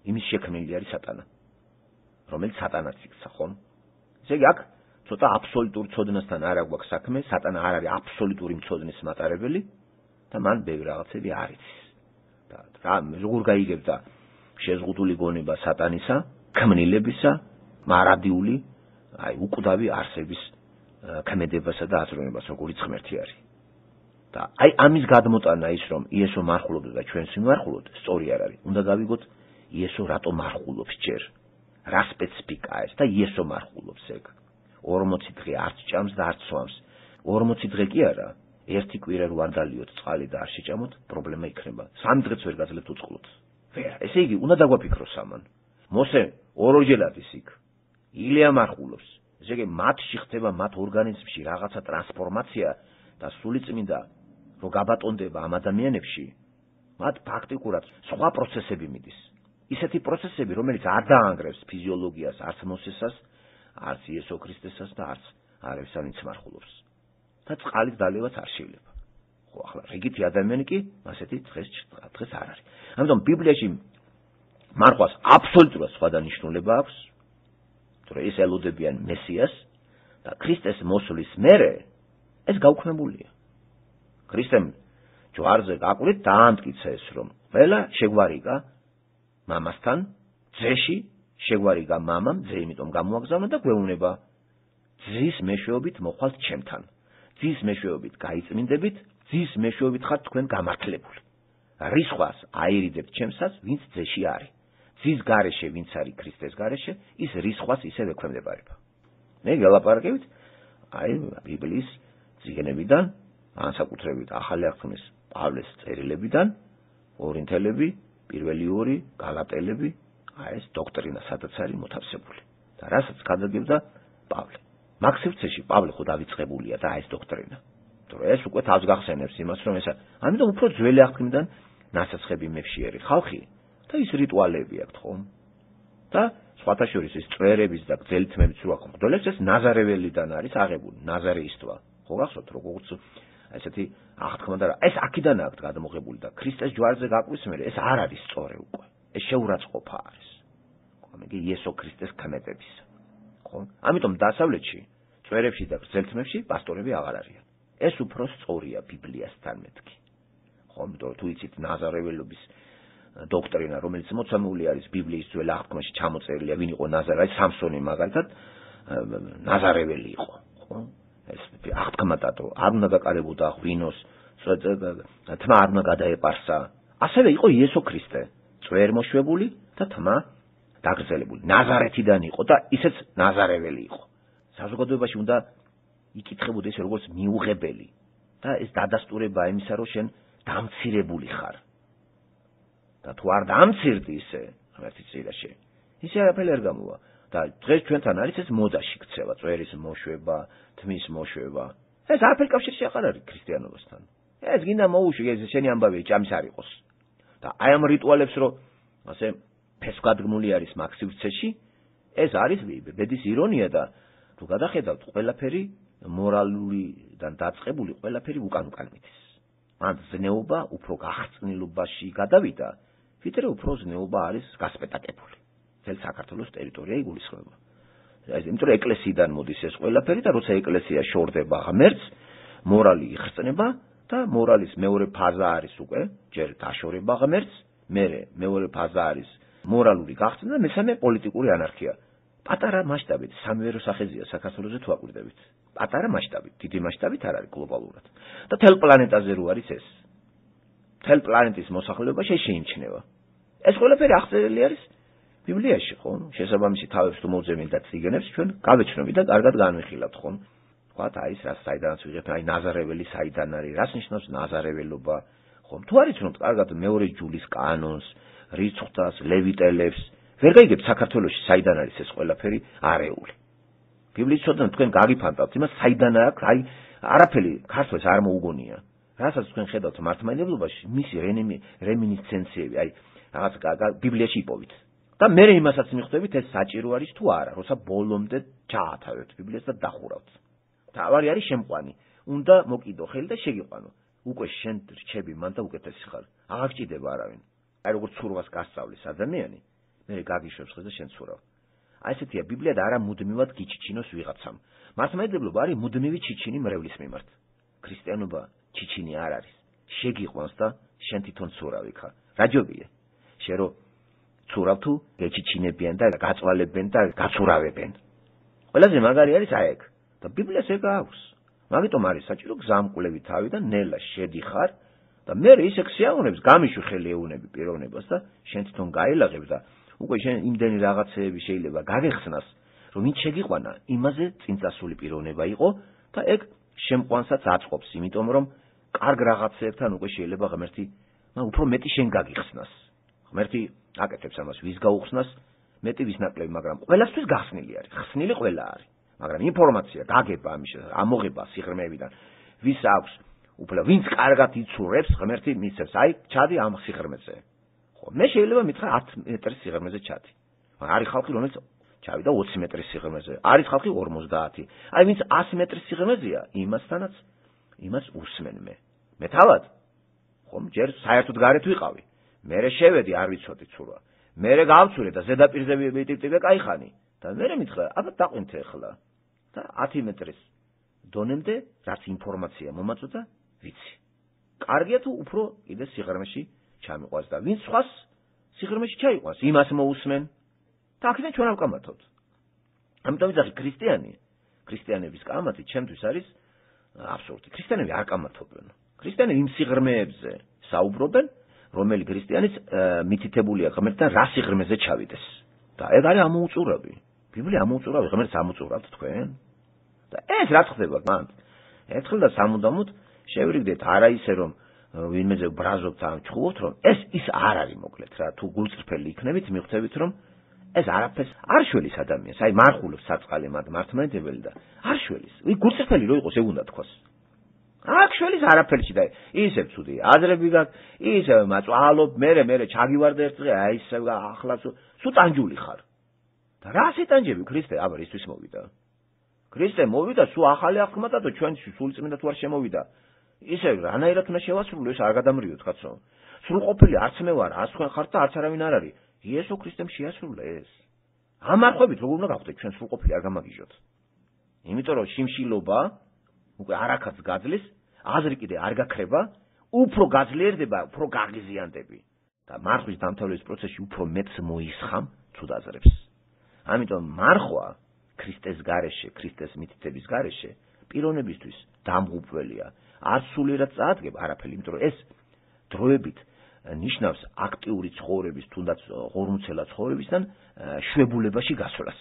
იმის შექმნელი არის სატანა, რომელიც სატანაც იქცა, ხომ? ესე იგი აქ ცოტა აბსოლუტურ ცოდნასთან არ აქვს საქმე, სატანა არ არის აბსოლუტური მცოდნის მატარებელი და მან ბევრი რაღაცები არ იცის. და რა როგორ გაიგებდა შეზღუდული გონება სატანისა, ქმნილებისა, მარადიული, აი უკვდავი არსების ქმედებასა და აზროვნებას, როგორიც ღმერთი არის. და აი ამის გადმოტანა ის რომ იესო მარხულობდა და ჩვენს მიმარხულოთ, სწორი არ არის. უნდა გავიგოთ იესო რატომ მარხულობს ჯერ. რა სპეციფიკაა ეს და იესო მარხულობს ეგ. ორმოცი დღე არც ჭამს და არც სვამს. ორმოცი დღე კი არა, ერთი კვირა რო არ დალიოთ წყალი და არ შეჭამოთ, პრობლემა იქნება. სამი დღეც ვერ გაძლევთ უწყლოდ. ვერა, ესე იგი, უნდა დაგვაფიქროს ამან. მოსე ორჯერ ის იქ. ილია მარხულობს. ესე იგი, მათში ხდება მათ ორგანიზმში რაღაცა ტრანსფორმაცია და სულიწმინდა რო გაბატონდება ამ ადამიანებში, მათ ფაქტიკურად სხვა პროცესები მიდის. ისეთი პროცესები, რომელიც არ დაანგრევს ფიზიოლოგიას, არც მოსესას, არც იესო ქრისტესას და არც არებს ვინც მარხულობს. და წყალით დალევაც არ შეიძლება. ხო, ახლა რიგითი ადამიანი კი ასეთი დღეს დღეს არ არის. ამიტომ ბიბლიაში მარხვას აბსოლუტურად სხვა დანიშნულება აქვს, თორე ის ელოდებიან მესიას და ქრისტეს მოსვლის მერე ეს გაუქმებულია. ქრისტემ ჯვარზე გაკვდით დაამტკიცა ეს რომ ყველა შეგვარიგა მამასთან, ძეში შეგვარიგა მამამ, ძე იმიტომ გამოაგზავნა და გვეუბნება ძის მეშვეობით მოხვალთ ჩემთან. ძის მეშვეობით გაიწმინდებით, ძის მეშვეობით ხართ თქვენ გამართლებული. რისხვას აერიდებთ ჩემსას, ვინც ძეში არის. ძის გარეშე, ვინც არის ქრისტეს გარეშე, ის რისხვას ისევ ექვემდებარება. მე გელაპარაკებით აი ბიბლიის წიგნებიდან, განსაკუთრებით ახალი აღთქმის პავლეს წერილებიდან, ორინთელები, პირველი ორი, გალატელები, აი ეს დოქტრინა სადაც არის მოთავსებული. და რასაც გადაგებდა პავლე. მაგ სივრცეში პავლე ხო დავიწყებულია და ეს დოქტრინა. თორე ეს უკვე თავს გახსენებს იმას, რომ ესა, ამიტომ უფრო ძველი აღთქმიდან ნასაცხები მევშიერი ხალხი და ის რიტუალები აქვს ხომ? და სხვათა შორის ის წვერების და გძელითმების რო აქვს. მღვდელებს ეს ნაზარეველიდან არის აღებული, ნაზარეისტვა. ხო გახსოვთ, როგორც ესეთი აღთქმა და ეს აქედან აქვს გადმოღებული და ქრისტეს ჯვარზე გაკვის მერე ეს არ არის სწორი უკვე. ეს შეურაცხყოფა არის. ხო, მე იესო ქრისტეს ქმედების. ხო? ამიტომ დასავლეთში, წვერებში და გრძელთმებში პასტორები აღარ არიან. ეს უფრო სწორია ბიბლიასთან მეთქი. ხო, იმიტომ თუ იცით ნაზარეველობის დოქტრინა, რომელიც მოცემული არის ბიბლიის ძველ აღთქმაში ჩამოწერილია, ვინ იყო ნაზარე, სამსონი მაგალითად ნაზარეველი იყო, ხო? ეს აღთქმათო არ უნდა დაკარებოდა ღვინოს, თმა არ უნდა გადაეპარსა. ასევე იყო იესო ქრისტე, წვერმოშვებული და თმა დაგრძელებული. ნაზარეთიდან იყო და ისეც ნაზარეველი იყო. საზოგადოებაში უნდა იკითხებოდეს როგორც მიუღებელი და ეს დადასტურება იმისა, რომ შენ დამცირებული ხარ. და თუ არ დამცირდი ისე, ღმერთის წინაშე, ისე არაფერი არ გამოვა. და დღეს ჩვენთან არის ეს მოდაში ქცევა, წვერის მოშვება, თმის მოშვება. ეს არაფერი კავშირში აღარ არის ქრისტიანობასთან. ეს გინდა მოუშვი, ეს შენი ამბავი ჭამის არ იყოს. და აი ამ რიტუალებს რო ასე ფესვგადგმული არის მაგ სივრცეში, ეს არის ბედის ირონია და თუ გადახედავთ, ყველაფერი მორალურიდან დაწყებული ყველაფერი უკან უკან მიდის. ან ზნეობა უფრო გახსნილობაში გადავიდა, ვიდრე უფრო ზნეობა არის გასპეტაკებული. ძელ საქართველოს ტერიტორია იგულისხმება. ეს იმიტომ რომ ეკლესიიდან მოდის ეს ყველაფერი და როცა ეკლესია შორდება ღმერთს, მორალი იხსნება და მორალის მეორე ფაზა არის უკვე ჯერ დაშორება ღმერთს, მერე მეორე ფაზა არის მორალური გახსნა და მესამე პოლიტიკური ანარქია. პატარა მასშტაბით, სამივე სახეზეა საქართველოზე თუ აკვირდებით. პატარა მასშტაბით, დიდი მასშტაბით არ არის გლობალურად. და თელ პლანეტაზე რო არის ეს. თელ პლანეტის მოსახლეობა შეიმჩნევა. ეს ყველაფერი აღწერილი არის ბიბლიაში, ხო? შესაბამისი თავებს თუ მოვძებნით და წიგნებს ჩვენ გავეჩნობით და კარგად განვიხილავთ, ხო? თქვათ აი ეს რა საიდანაც ვიღებთ, აი ნაზარეველი საიდან არის, რას ნიშნავს ნაზარეველობა, ხო? თუ არ იცნობთ კარგად მეორე ჯულის კანონს, რიცხვს, ლევიტელებს, ვერ გაიგებთ საქართველოში საიდან არის ეს ყველაფერი არეული. ბიბლიის ცოდნა თქვენ გაგიფანტავთ, იმას საიდან აქვს, აი არაფერი ქართულს არ მოუგონია. რასაც თქვენ ხედავთ მართლმადიდებლობაში, მისი რემინისცენციები, აი რაღაც ბიბლიაში იპოვით. და მე იმასაც მიხვდებით, ეს საჭირო არის თუ არა, როცა ბოლომდე ჩაათავებთ ბიბლიას და დახურავთ. თავარი არის შემყვანი. უნდა მოკიდო ხელი და შეგიყვანო. უკვე შენ რჩები მან და უკეთესი ხარ. აღარ გჭირდება არავინ. აი როგორც ცურვას გასწავლის ადამიანი, მე გაგიშვებს ხეს და შენ ცურავ. აი ესეთია ბიბლია და არა მუდმივად გიჩიჩინოს ვიღაცამ. მართლმადიდებლობა არის მუდმივი ჩიჩინი მრევლის მიმართ. ქრისტიანობა ჩიჩინი არ არის. შეგიყვანს და შენ თვითონ ცურავი ხარ. რა ჯობია? შენ რო ცურავ თუ გეჩიჩინებიან და გაწვალებენ და გაცურავებენ. ყველაზე მაგარი არის აი ეგ. და ბიბლიას ეგ აქვს. მაგიტომ არის საჭირო გზამკვლევი თავიდან ნელა შედიხარ და მე ისე ქსიაუნებს გამიშვი ხელი ეუნები პიროვნებას და შენ თვითონ გაილაღებ და უკვე შენ იმდენი რაღაცეები შეიძლება გაგეხსნას რომ ვინ შეგიყვანა იმაზე წინწასული პიროვნება იყო და ეგ შემყვანსაც აწყობს იმიტომ რომ კარგ რაღაცებთან უკვე შეიძლება ღმერთი მაგრამ უფრო მეტი შენ გაგიხსნას ღმერთი აკეთებს ამას ვის გაუხსნას მეტი ვის ნაკლები მაგრამ ყველასთვის გახსნილი არის ხსნილი ყველა არის მაგრამ ინფორმაცია გაგება ამის ამოღება სიღრმეებიდან ვის აქვს უფრო ვინც კარგად იცურებს ღმერთი მისცემს აი ჩადი ამ სიღრმეზე ხო მე შეიძლება მითხრა ათი მეტრის სიღრმეზე ჩადი არის ხალხი რომელიც ჩავიდა ოცი მეტრის სიღრმეზე არის ხალხი ორმოცდაათი აი ვინც ასი მეტრის სიღრმეზეა იმასთანაც იმას უსმენ მე მე თავად ხომ ჯერ საერთოდ გარეთ ვიყავი მე შევედი არ ვიცოდი ცურვა მე გავცურე და ზედაპირზე ვიტიპტიპე кайხანი და მე მითხრა აბა დაყვინთე ახლა და ათი მეტრის დონემდე რაც ინფორმაცია მომაწოდა ვიცი კარგია თუ უფრო კიდე სიღრმეში ჩამიყვანს და ვინც სხვას სიღრმეში ჩაიყვანს იმას მოусმენ და აქედან ჩვენ ავკამათოთ ამიტომ ვიძახი ქრისტიანი ქრისტიანების კამათი ჩემთვის არის აბსურდი ქრისტიანები არ კამათობენ ქრისტიანები იმ სიღრმეებზე საუბრობენ რომელი ქრისტიანიც მითითებულია ღმერთთან რა სიღრმეზე ჩავიდეს და ეგ არის ამოუწურავი ბიბლია ამოუწურავი ღმერთს ამოუწურავთ თქვენ და ეს რა ხდება მანდ ერთხელ და სამუდამოდ შევრიგდეთ არა ისე რომ ვინმეზე ბრაზობთ ან ჩხუბობთ რომ ეს ის არ არის მოკლედ რა თუ გულწრფელი იქნებით მიხვდებით რომ ეს არაფერს არ შველის ადამიანს აი მარხულობს საწყალი მათ მართლმადიდებელი და არ შველის ვი გულწრფელი რო იყოს ეგ უნდა თქვას აქ შველის არაფერში და ისე ცუდი აზრები გაქვს ისე მაწვალობ მე მე ჩაგივარდა ერთ დღე აი ისე ახლა სულ ტანჯული ხარ და რა სიტანჯები ქრისტე აბა ისთვის მოვიდა ქრისტე მოვიდა სულ ახალი აღქმადა და ჩვენში სულწმინდა თუ არ შემოვიდა ისე რანაირად უნდა შევასრულო ეს არ გადამრიოთ კაცო სრულყოფილი არც მე ვარ არც თქვენ ხართ და არც არავინ არ არის იესო ქრისტემ შეასრულა ეს ამ არხვებით როგორ უნდა გავხდეთ ჩვენ სრულყოფილი არ გამაგიჟოთ იმიტომ რომ შიმშილობა უკვე არაკაც გაძლეს აზრი კიდე არ გაქრება უფრო გაძლიერდება უფრო გაღიზიანდები და მარხვის დამთავრების პროცესში უფრო მეტს მოისხამ ცუდ აზრებს ამიტომ მარხვა ქრისტეს გარეშე ქრისტეს მითითების გარეშე პიროვნებისთვის დამღუპველია არ სულიერად წაადგება არაფერი იმიტომ რომ ეს დროებით ნიშნავს აქტიური ცხოვრების თუნდაც ღორმუცელა ცხოვრებისგან შვებულებაში გასვლას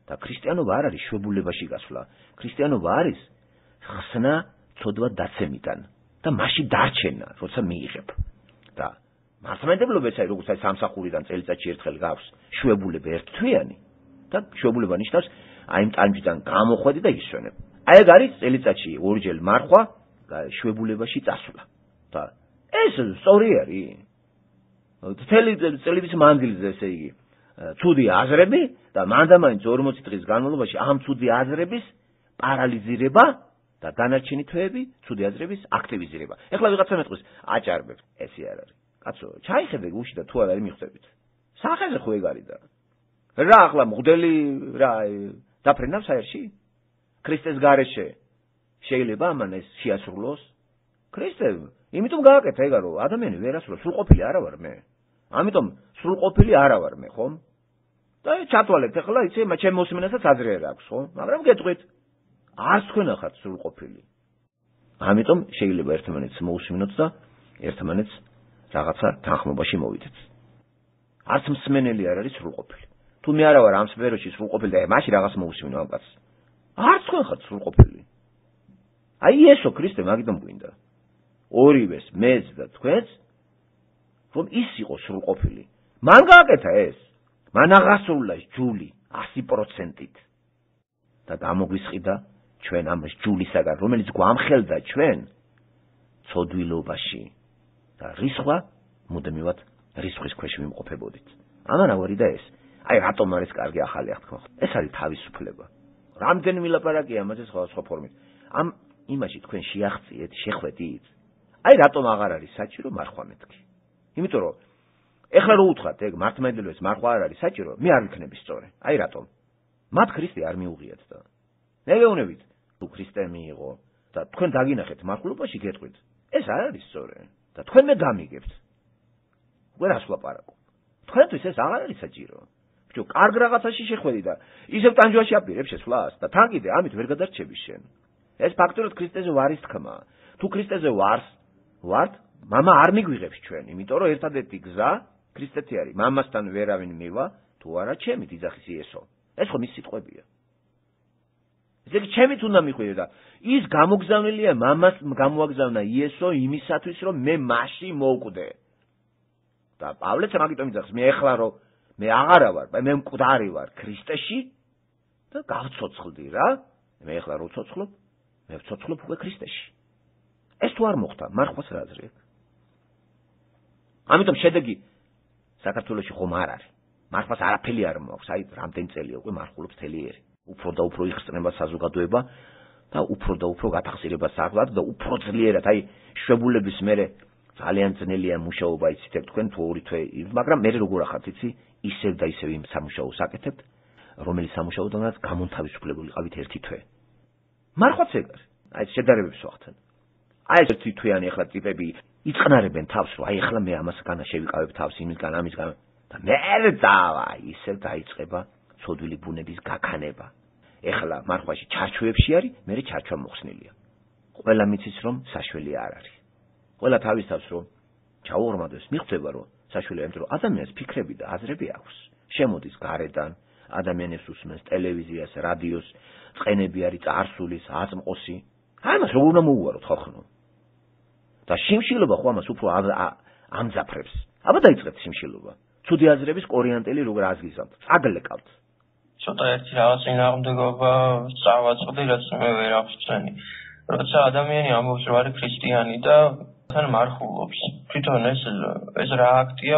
და ქრისტიანობა არ არის შვებულებაში გასვლა ქრისტიანობა არის ხსნა ცოდვა დაცემიდან და მასში დარჩენა როცა მიიღებ და მართლმადიდებლობა ეს არის როგორც აი სამსახურიდან წელიწადში ერთხელ გავს შვებულება ერთთვიანი და შვებულება ნიშნავს აი ამ ტანჯიდან გამოხვედი და ისვენებ აი ეგ არის წელიწადში ორჯერ მარხვა შვებულებაში წასვლა და ეს სწორი არის მთელი წელიწადის მანძილზე ესე იგი ცუდი აზრები და მანდამაინც ორმოცი დღის განმავლობაში ამ ცუდი აზრების პარალიზირება და დანარჩენი თვეები ცუდი აზრების აქტივიზირება ეხლა ვიღაცა მეტყვის აჭარბებს ესე არ არის კაცო ჩაიხედე გუში და თუ არ არის მიხვდებით სახეზე ხო ეგ არის და რა ახლა მღვდელი რა დაფრენავს აერში ქრისტეს გარეშე შეიძლება ამან ეს შეასრულოს ქრისტე იმიტომ გააკეთა ეგა რომ ადამიანი ვერ ასრულებს სრულყოფილი არა ვარ მე ამიტომ სრულყოფილი არა ვარ მე ხომ და ჩათვალეთ ახლა იცი ჩემ მოსმენასაც აზრი არ აქვს ხო მაგრამ გეტყვით არც თქვენ ახართ სრულყოფილი ამიტომ შეიძლება ერთმანეთს მოусმინოთ და ერთმანეთს რაღაცა თანხმობაში მოვიდეთ არც მსმენელი არ არის სრულყოფილი თუ მე არა ვარ ამ სფეროში სრულყოფილი და მაშინ რაღაც მოусმინო ამ კაცს არც თქვენ ხართ სრულყოფილი აი იესო ქრისტე მაგიტომ გვინდა ორივეს მეც და თქვენს რომ ის იყო სრულყოფილი მან გააკეთა ეს მან აღასრულა ჯული ასი პროცენტით და გამოგვისყიდა ჩვენ ამ ჯულისაგან რომელიც გვამხელდა ჩვენ ცოდვილობაში და რისხვა მუდმივად რისხვის ქვეშ ვიმყოფებოდით ამან ავარიდა ეს აი რატომ არის კარგი ახალი აღთქმა ეს არის თავისუფლება რამდენი მილაპარაკია ამაზე სხვა სხვა ფორმით ამ იმაში თქვენ შეახციეთ შეხვედით აი რატომ აღარ არის საჭირო მარხვა მეთქი იმიტომ რომ ეხლა რო უთხრათ, ეგ მართლმადიდებლებს მარხვა არ არის საჭირო, მე არ ვიქნები სწორი. აი რატომ? მათ ქრისტე არ მიუღიათ და. მე გეუბნებით, თუ ქრისტე მიიღო და თქვენ დაგინახეთ მარხულობაში გეტყვით, ეს არ არის სწორი და თქვენ მე გამიგებთ. ვერას ვლაპარაკო. თქვენთვის ეს აღარ არის საჭირო. ბიჭო, კარგ რაღაცაში შეხვედი და ისევ ტანჯვაში აპირებ შესვლას და თან კიდე ამით ვერ გადარჩები შენ. ეს ფაქტურად ქრისტეზე ვარის თქმა. თუ ქრისტეზე ვარს, ვართ, მამა არ მიგვიღებს ჩვენ, იმიტომ რომ ერთადერთი გზა ქრისტეთი არის. მამასთან ვერავინ მივა, თუ არა ჩემით იძახის იესო. ეს ხო მის სიტყვებია. ესე იგი ჩემით უნდა მიხვიდე და ის გამოგზავნილია მამას გამოაგზავნა იესო იმისათვის რომ მე მასში მოვკვდე. და პავლეც მაგიტომ იძახს, მე ეხლა რომ მე აღარა ვარ, მე მკვდარი ვარ ქრისტეში და გავცოცხლდი რა. მე ეხლა რო ვცოცხლობ, მე ვცოცხლობ უკვე ქრისტეში. ეს თუ არ მოხდა, მარხვას რა აზრი აქვს? ამიტომ შედეგი საქართველოში ხომ არ არის. მარხვას არაფერი არ მოაქვს, აი რამდენი წელია უკვე მარხულობს თელიერი. უფრო და უფრო იხსნება საზოგადოება და უფრო და უფრო გათახსირება საქმად და უფრო ძლიერად, აი შვებულების მერე ძალიან ძნელია მუშაობა იცით თქვენ თუ ორი თვე, მაგრამ მე როგორ ახართ იცი, ისევ და ისევ იმ სამუშაოს აკეთებთ, რომელიც სამუშაოდანაც გამონთავისუფლებული ყავით ერთი თვე. მარხვაც ეგ არის. აი შედარებებს ვახცენ. აი ეს ერთი თვიანი ახლა ტიპები იწყნარებენ თავს, რომ აი ახლა მე ამას განა შევიკავებ თავს იმისგან ამისგან და მე დავა ისევ დაიწყება ცოდვილი ბუნების გაქანება. ეხლა მარხვაში ჩარჩოებში არის, მე ჩარჩვა მოხსნილია. ყველა მიცის რომ საშველი არ არის. ყველა თავის თავს რომ ჩაუღრმავდეს, მიხვდება რომ საშველი არის, რომ ადამიანს ფიქრები და აზრები აქვს. შემოდის გარედან, ადამიანებს უსმენს ტელევიზიას, რადიოს, წყენები არის წარსულის, აწმყოსი. აი მას როგორ უნდა მოუვაროთ ხალხო? და შიმშილობა ხო ამას უფრო ამძაფრებს. აბა დაიწყეთ შიმშილობა. ცუდი აზრების კორიანტელი როგორ აზგიზავთ, წაგლეკავთ. ცოტა ერთი რაღაც წინააღმდეგობა წავაწყდი, რაც მე ვერ აღწევი. როცა ადამიანი ამბობს რომ არის ქრისტიანი და თან მარხულობს. თვითონ ეს ეს რა აქტია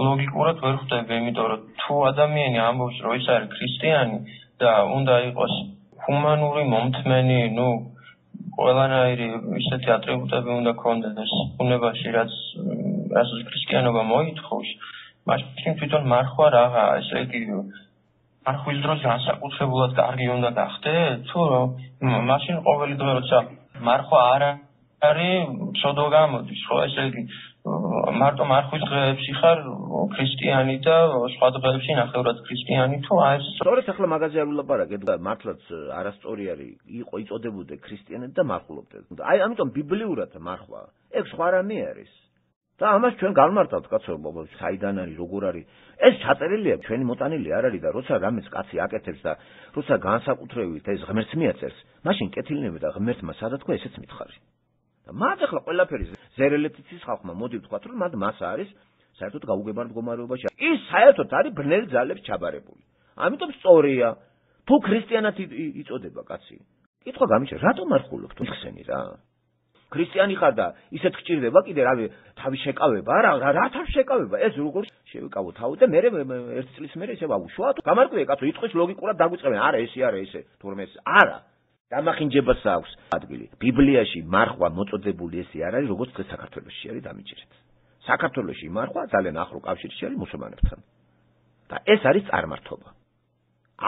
ლოგიკურად ვერ ხვდები, იმიტომ რომ თუ ადამიანი ამბობს რომ ის არის ქრისტიანი და უნდა იყოს ჰუმანური, მომთმენი, ნუ ყველანაირი ისეთი ატრიბუტები უნდა ქონდეს ბუნებაში, რაც რასაც ქრისტიანობა მოითხოვს, მაშინ თვითონ მარხვა რაღაცა, ესე იგი მარხვის დროს განსაკუთრებულად კარგი უნდა გახდეთ, თუ მაშინ ყოველი დღე როცა მარხვა არ არის, სოდო გამოდის, ხო, ესე იგი მარტო მარხვის დღეებში ხარ ქრისტიანი და სხვა დღეებში ნახევრად ქრისტიანი თუ აი ეს სწორედ ახლა მაგაზე არ ვილაპარაკე და მართლაც არასწორი არის იყო იწოდებოდე ქრისტიანად და მარხულობდე. აი ამიტომ ბიბლიურად მარხვა ეგ სხვა რამე არის. და ამას ჩვენ გავმართავთ კაცო, საიდან არის, როგორ არის. ეს ჩაწერილია, ჩვენი მოტანილი არ არის და როცა რამეს კაცი აკეთებს და როცა განსაკუთრებით ეს ღმერთს მიაწერს, მაშინ კეთილნება და ღმერთმა სადა თქვა ესეც მითხარი. და მათ ახლა ყველაფერი ზერელეთიცის ხალხმა მოდი ვთქვათ, რომ მათ მას არის საერთოდ გაუგებარ მდგომარეობაში. ის საერთოდ არის ბნელ ძალებს ჩაბარებული. ამიტომ სწორია, თუ ქრისტიანად იწოდება კაცი. კითხვა გამიჩნდა, რატომ არ ხულობ თუ ხსენი რა? ქრისტიანი ხარ და ისეთ გჭირდება კიდე რავი თავი შეკავება, არა, რა თავი შეკავება? ეს როგორ შევიკავო თავი და მე ერთი წლის მერე ისე ვაგუშვა, თუ გამარკვია კაცო, იტყვის ლოგიკურად დაგვიწყებენ, არა ესე არა ესე, თურმე ეს არა. დამახინჯებას აქვს ადგილი. ბიბლიაში მარხვა მოწოდებული ესე არ არის, როგორც დღეს საქართველოში არის დამიჯერეთ. საქართველოში მარხვა ძალიან ახლო კავშირში არის მუსულმანებთან. და ეს არის წარმართობა.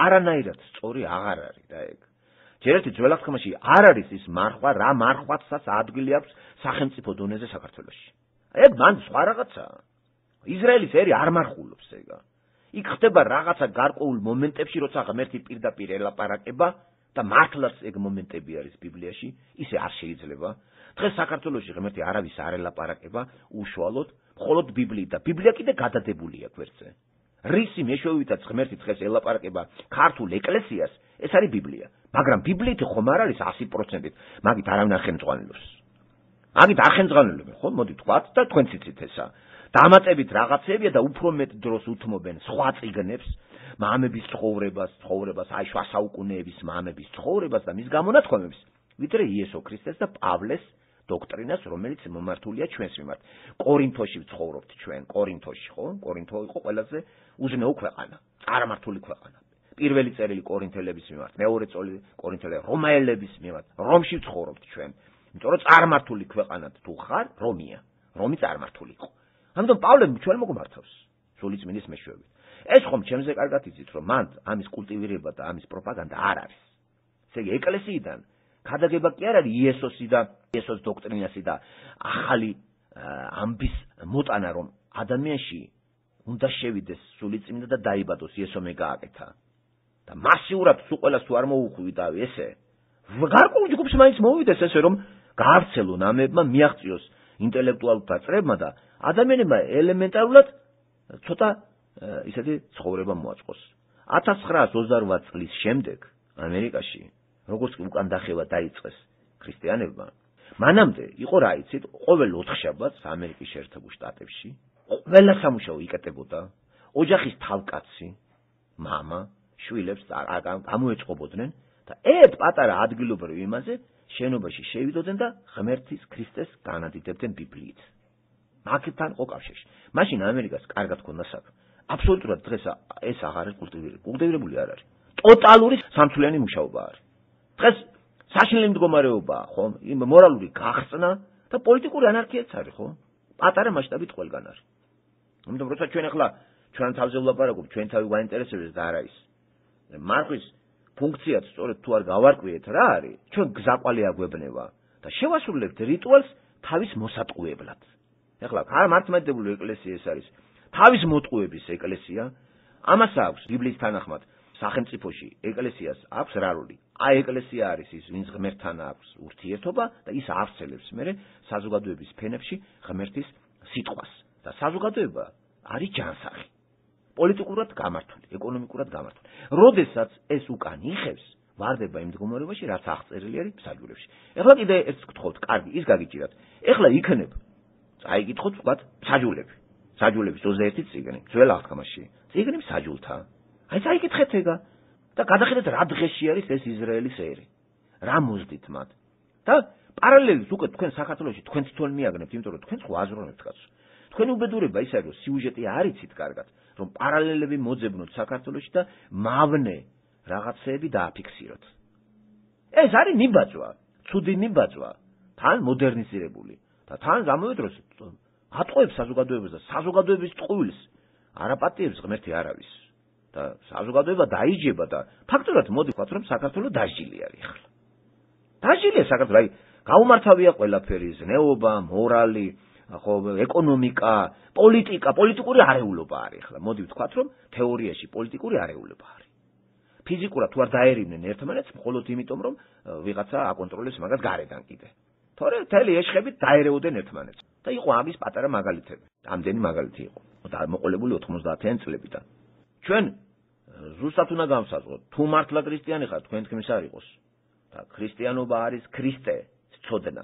არანაირად სწორი აღარ არის და ეგ. ჯერ ერთი ძველახმაში არ არის ის მარხვა, რა მარხვაცაც ადგილი აქვს სახელმწიფო დონეზე საქართველოში. ეგ მან სხვა რაღაცაა. ისრაელის ერი არ მარხულობს ეგა. იქ ხდება რაღაცა გარკვეულ მომენტებში, როცა ღმერთი პირდაპირ ელაპარაკება და მართლაც ეგ მომენტები არის ბიბლიაში, ისე არ შეიძლება. დღეს საქართველოში ღმერთი არავის არ ელაპარაკება უშუალოდ, მხოლოდ ბიბლიით და ბიბლია კიდე გადადებულია გვერდზე. რისი მეშვეობითაც ღმერთი დღეს ელაპარაკება ქართულ ეკლესიას, ეს არის ბიბლია. მაგრამ ბიბლიით ხომ არ არის ასი პროცენტით, მაგით არავინ არ ხელმძღვანელობს. მაგით არ ხელმძღვანელებენ, ხო, მოდი თქვათ და თქვენც იცით ესა. დამატებით რაღაცებია და უფრო მეტ დროს უთმობენ სხვა წიგნებს, მამების ცხოვრებას, ცხოვრებას, აი შუა საუკუნეების მამების ცხოვრებას და მის გამონათქვამებს, ვიდრე იესო ქრისტეს და პავლეს დოქტრინას, რომელიც მომართულია ჩვენს მიმართ. კორინთოში ვცხოვრობთ ჩვენ, კორინთოში, ხო? კორინთო იყო ყველაზე უზნეო ქვეყანა, წარმართული ქვეყანა. პირველი წერილი კორინთელების მიმართ, მეორე წერილი კორინთელების რომაელების მიმართ. რომში ვცხოვრობთ ჩვენ. იმიტომ რომ წარმართული ქვეყანად თუ ხარ, რომია. რომი წარმართული იყო. ამიტომ პავლე ჩვენ მოგმართავს სულიწმინდის მეშვეობით. ეს ხომ ჩემზე კარგად იცით, რომ მან ამის კულტივირება და ამის პროპაგანდა არ არის. ესე იგი, ეკლესიიდან ქადაგება კი არ არის იესოსი და იესოს დოქტრინასი და ახალი ამბის მოტანა, რომ ადამიანში უნდა შევიდეს სულიწმინდა და დაიბადოს იესომე გააკეთა. და მასიურად სულ ყველას თუ არ მოუხვიდა ესე, გარკვეულ ჯგუფს მაინც მოვიდეს ესე, რომ გაავრცელონ ამებმა, მიაღწიოს ინტელექტუალთა წრებმა და ადამიანებმა ელემენტარულად ცოტა ისეთი ცხოვრება მოაწყოს. ათას ცხრაას ოცდარვաթ წლის შემდეგ ამერიკაში, როგორც კი უკან დახევა დაიწყეს ქრისტიანებმა, მანამდე იყო რა იცით, ყოველ ოთხშაბათს ამერიკის შეერთებულ შტატებში ყველა სამუშაო იკეტებოდა, ოჯახის თავკაცი, მამა, შვილებს გამოეწყობოდნენ და ერთ პატარა ადგილობრივ იმაზე შენობაში შევიდოდნენ და ღმერთის ქრისტეს განადიდებდნენ ბიბლიით. მაგთან ყო კავშირში. მაშინ ამერიკას კარგად ჰქონდა საქმე. აბსოლუტურად დღეს ეს აღარ არის კულტივირებული. კულტივირებული არ არის. ტოტალური სამთვლიანი მუშაობა არის. დღეს საშინელი მდგომარეობაა, ხო? იმ მორალური გახსნა და პოლიტიკური ანარქიაც არის, ხო? პატარა მასშტაბით ყველგან არის. ამიტომ როცა ჩვენ ახლა ჩვენ თავზე ვლაპარაკობ, ჩვენ თავი გვაინტერესებს და არა ის. მარხვის ფუნქციაც სწორედ თუ არ გავარკვიეთ რა არის, ჩვენ გზაყვალე აგვებნება და შევასრულებთ რიტუალს თავის მოსატყუებლად. ეხლა მართლმადიდებლური ეკლესია ეს არის თავის მოტყუების ეკლესია, ამას აქვს ბიბლიის თანახმად სახელმწიფოში ეკლესიას აქვს რა როლი? აი ეკლესია არის ის, ვინც ღმერთთან აქვს ურთიერთობა და ის ავრცელებს მერე საზოგადოების ფენებში ღმერთის სიტყვას. და საზოგადოება არის ჯანსაღი. პოლიტიკურად გამართული, ეკონომიკურად გამართული. როდესაც ეს უკან იხევს, ვარდება იმ მდგომარეობაში, რაც აღწერილი არის ფსაჯულებში. ეხლა კიდე ერთს გთხოვთ, კარგი, ის გაგიჭირათ. ეხლა იქნებ წაიკითხოთ ვთქვათ ფსაჯულები. ფსაჯულების ოცდაერთი წიგნი, ძველ აღთქმაში. წიგნი ფსაჯულთა. აი წაიკითხეთ ეგა და გადახედეთ რა დღეში არის ეს ისრაელის ერი. რა მოძდით მათ. და პარალელით უკვე თქვენ საქართველოში თქვენ თვითონ მიაგნებთ, იმიტომ რომ თქვენ ხო აზროვნებთ კაცო. თქვენი უბედურება ის არის, რომ სიუჟეტი არ იცით კარგად, რომ პარალელები მოძებნოთ საქართველოში და მავნე რაღაცეები დააფიქსიროთ. ეს არის ნიბაძვა, ცუდი ნიბაძვა, თან მოდერნიზირებული და თან ამავე დროს ატყუებს საზოგადოებას და საზოგადოების ტყუილს არაპატიებს ღმერთი არავის. და საზოგადოება დაიჯება და ფაქტურად მოდი ვთქვათ, რომ საქართველოს დაჟილი არის ახლა. დაჟილია საქართველოს, აი გაუმართავია ყველაფერი, ზნეობა, მორალი, ხო, ეკონომიკა, პოლიტიკა, პოლიტიკური არეულობა არის ახლა. მოდი ვთქვათ, რომ თეორიაში პოლიტიკური არეულობა არის. ფიზიკურად თუ არ დაერივნენ ერთმანეთს, მხოლოდ იმიტომ, რომ ვიღაცა აკონტროლებს მაგას გარედან კიდე. თორე მთელი ეშხებით დაერეოდნენ ერთმანეთს. და იყო ამის პატარა მაგალითები. ამდენი მაგალითი იყო. და მოყოლებული ოთხმოცდაათიან წლებიდან. ჩვენ ზუსტად უნდა გავსაზღვროთ, თუ მართლა ქრისტიანი ხართ, თქვენ თქმის არ იყოს. და ქრისტიანობა არის ქრისტე, ცოდნა.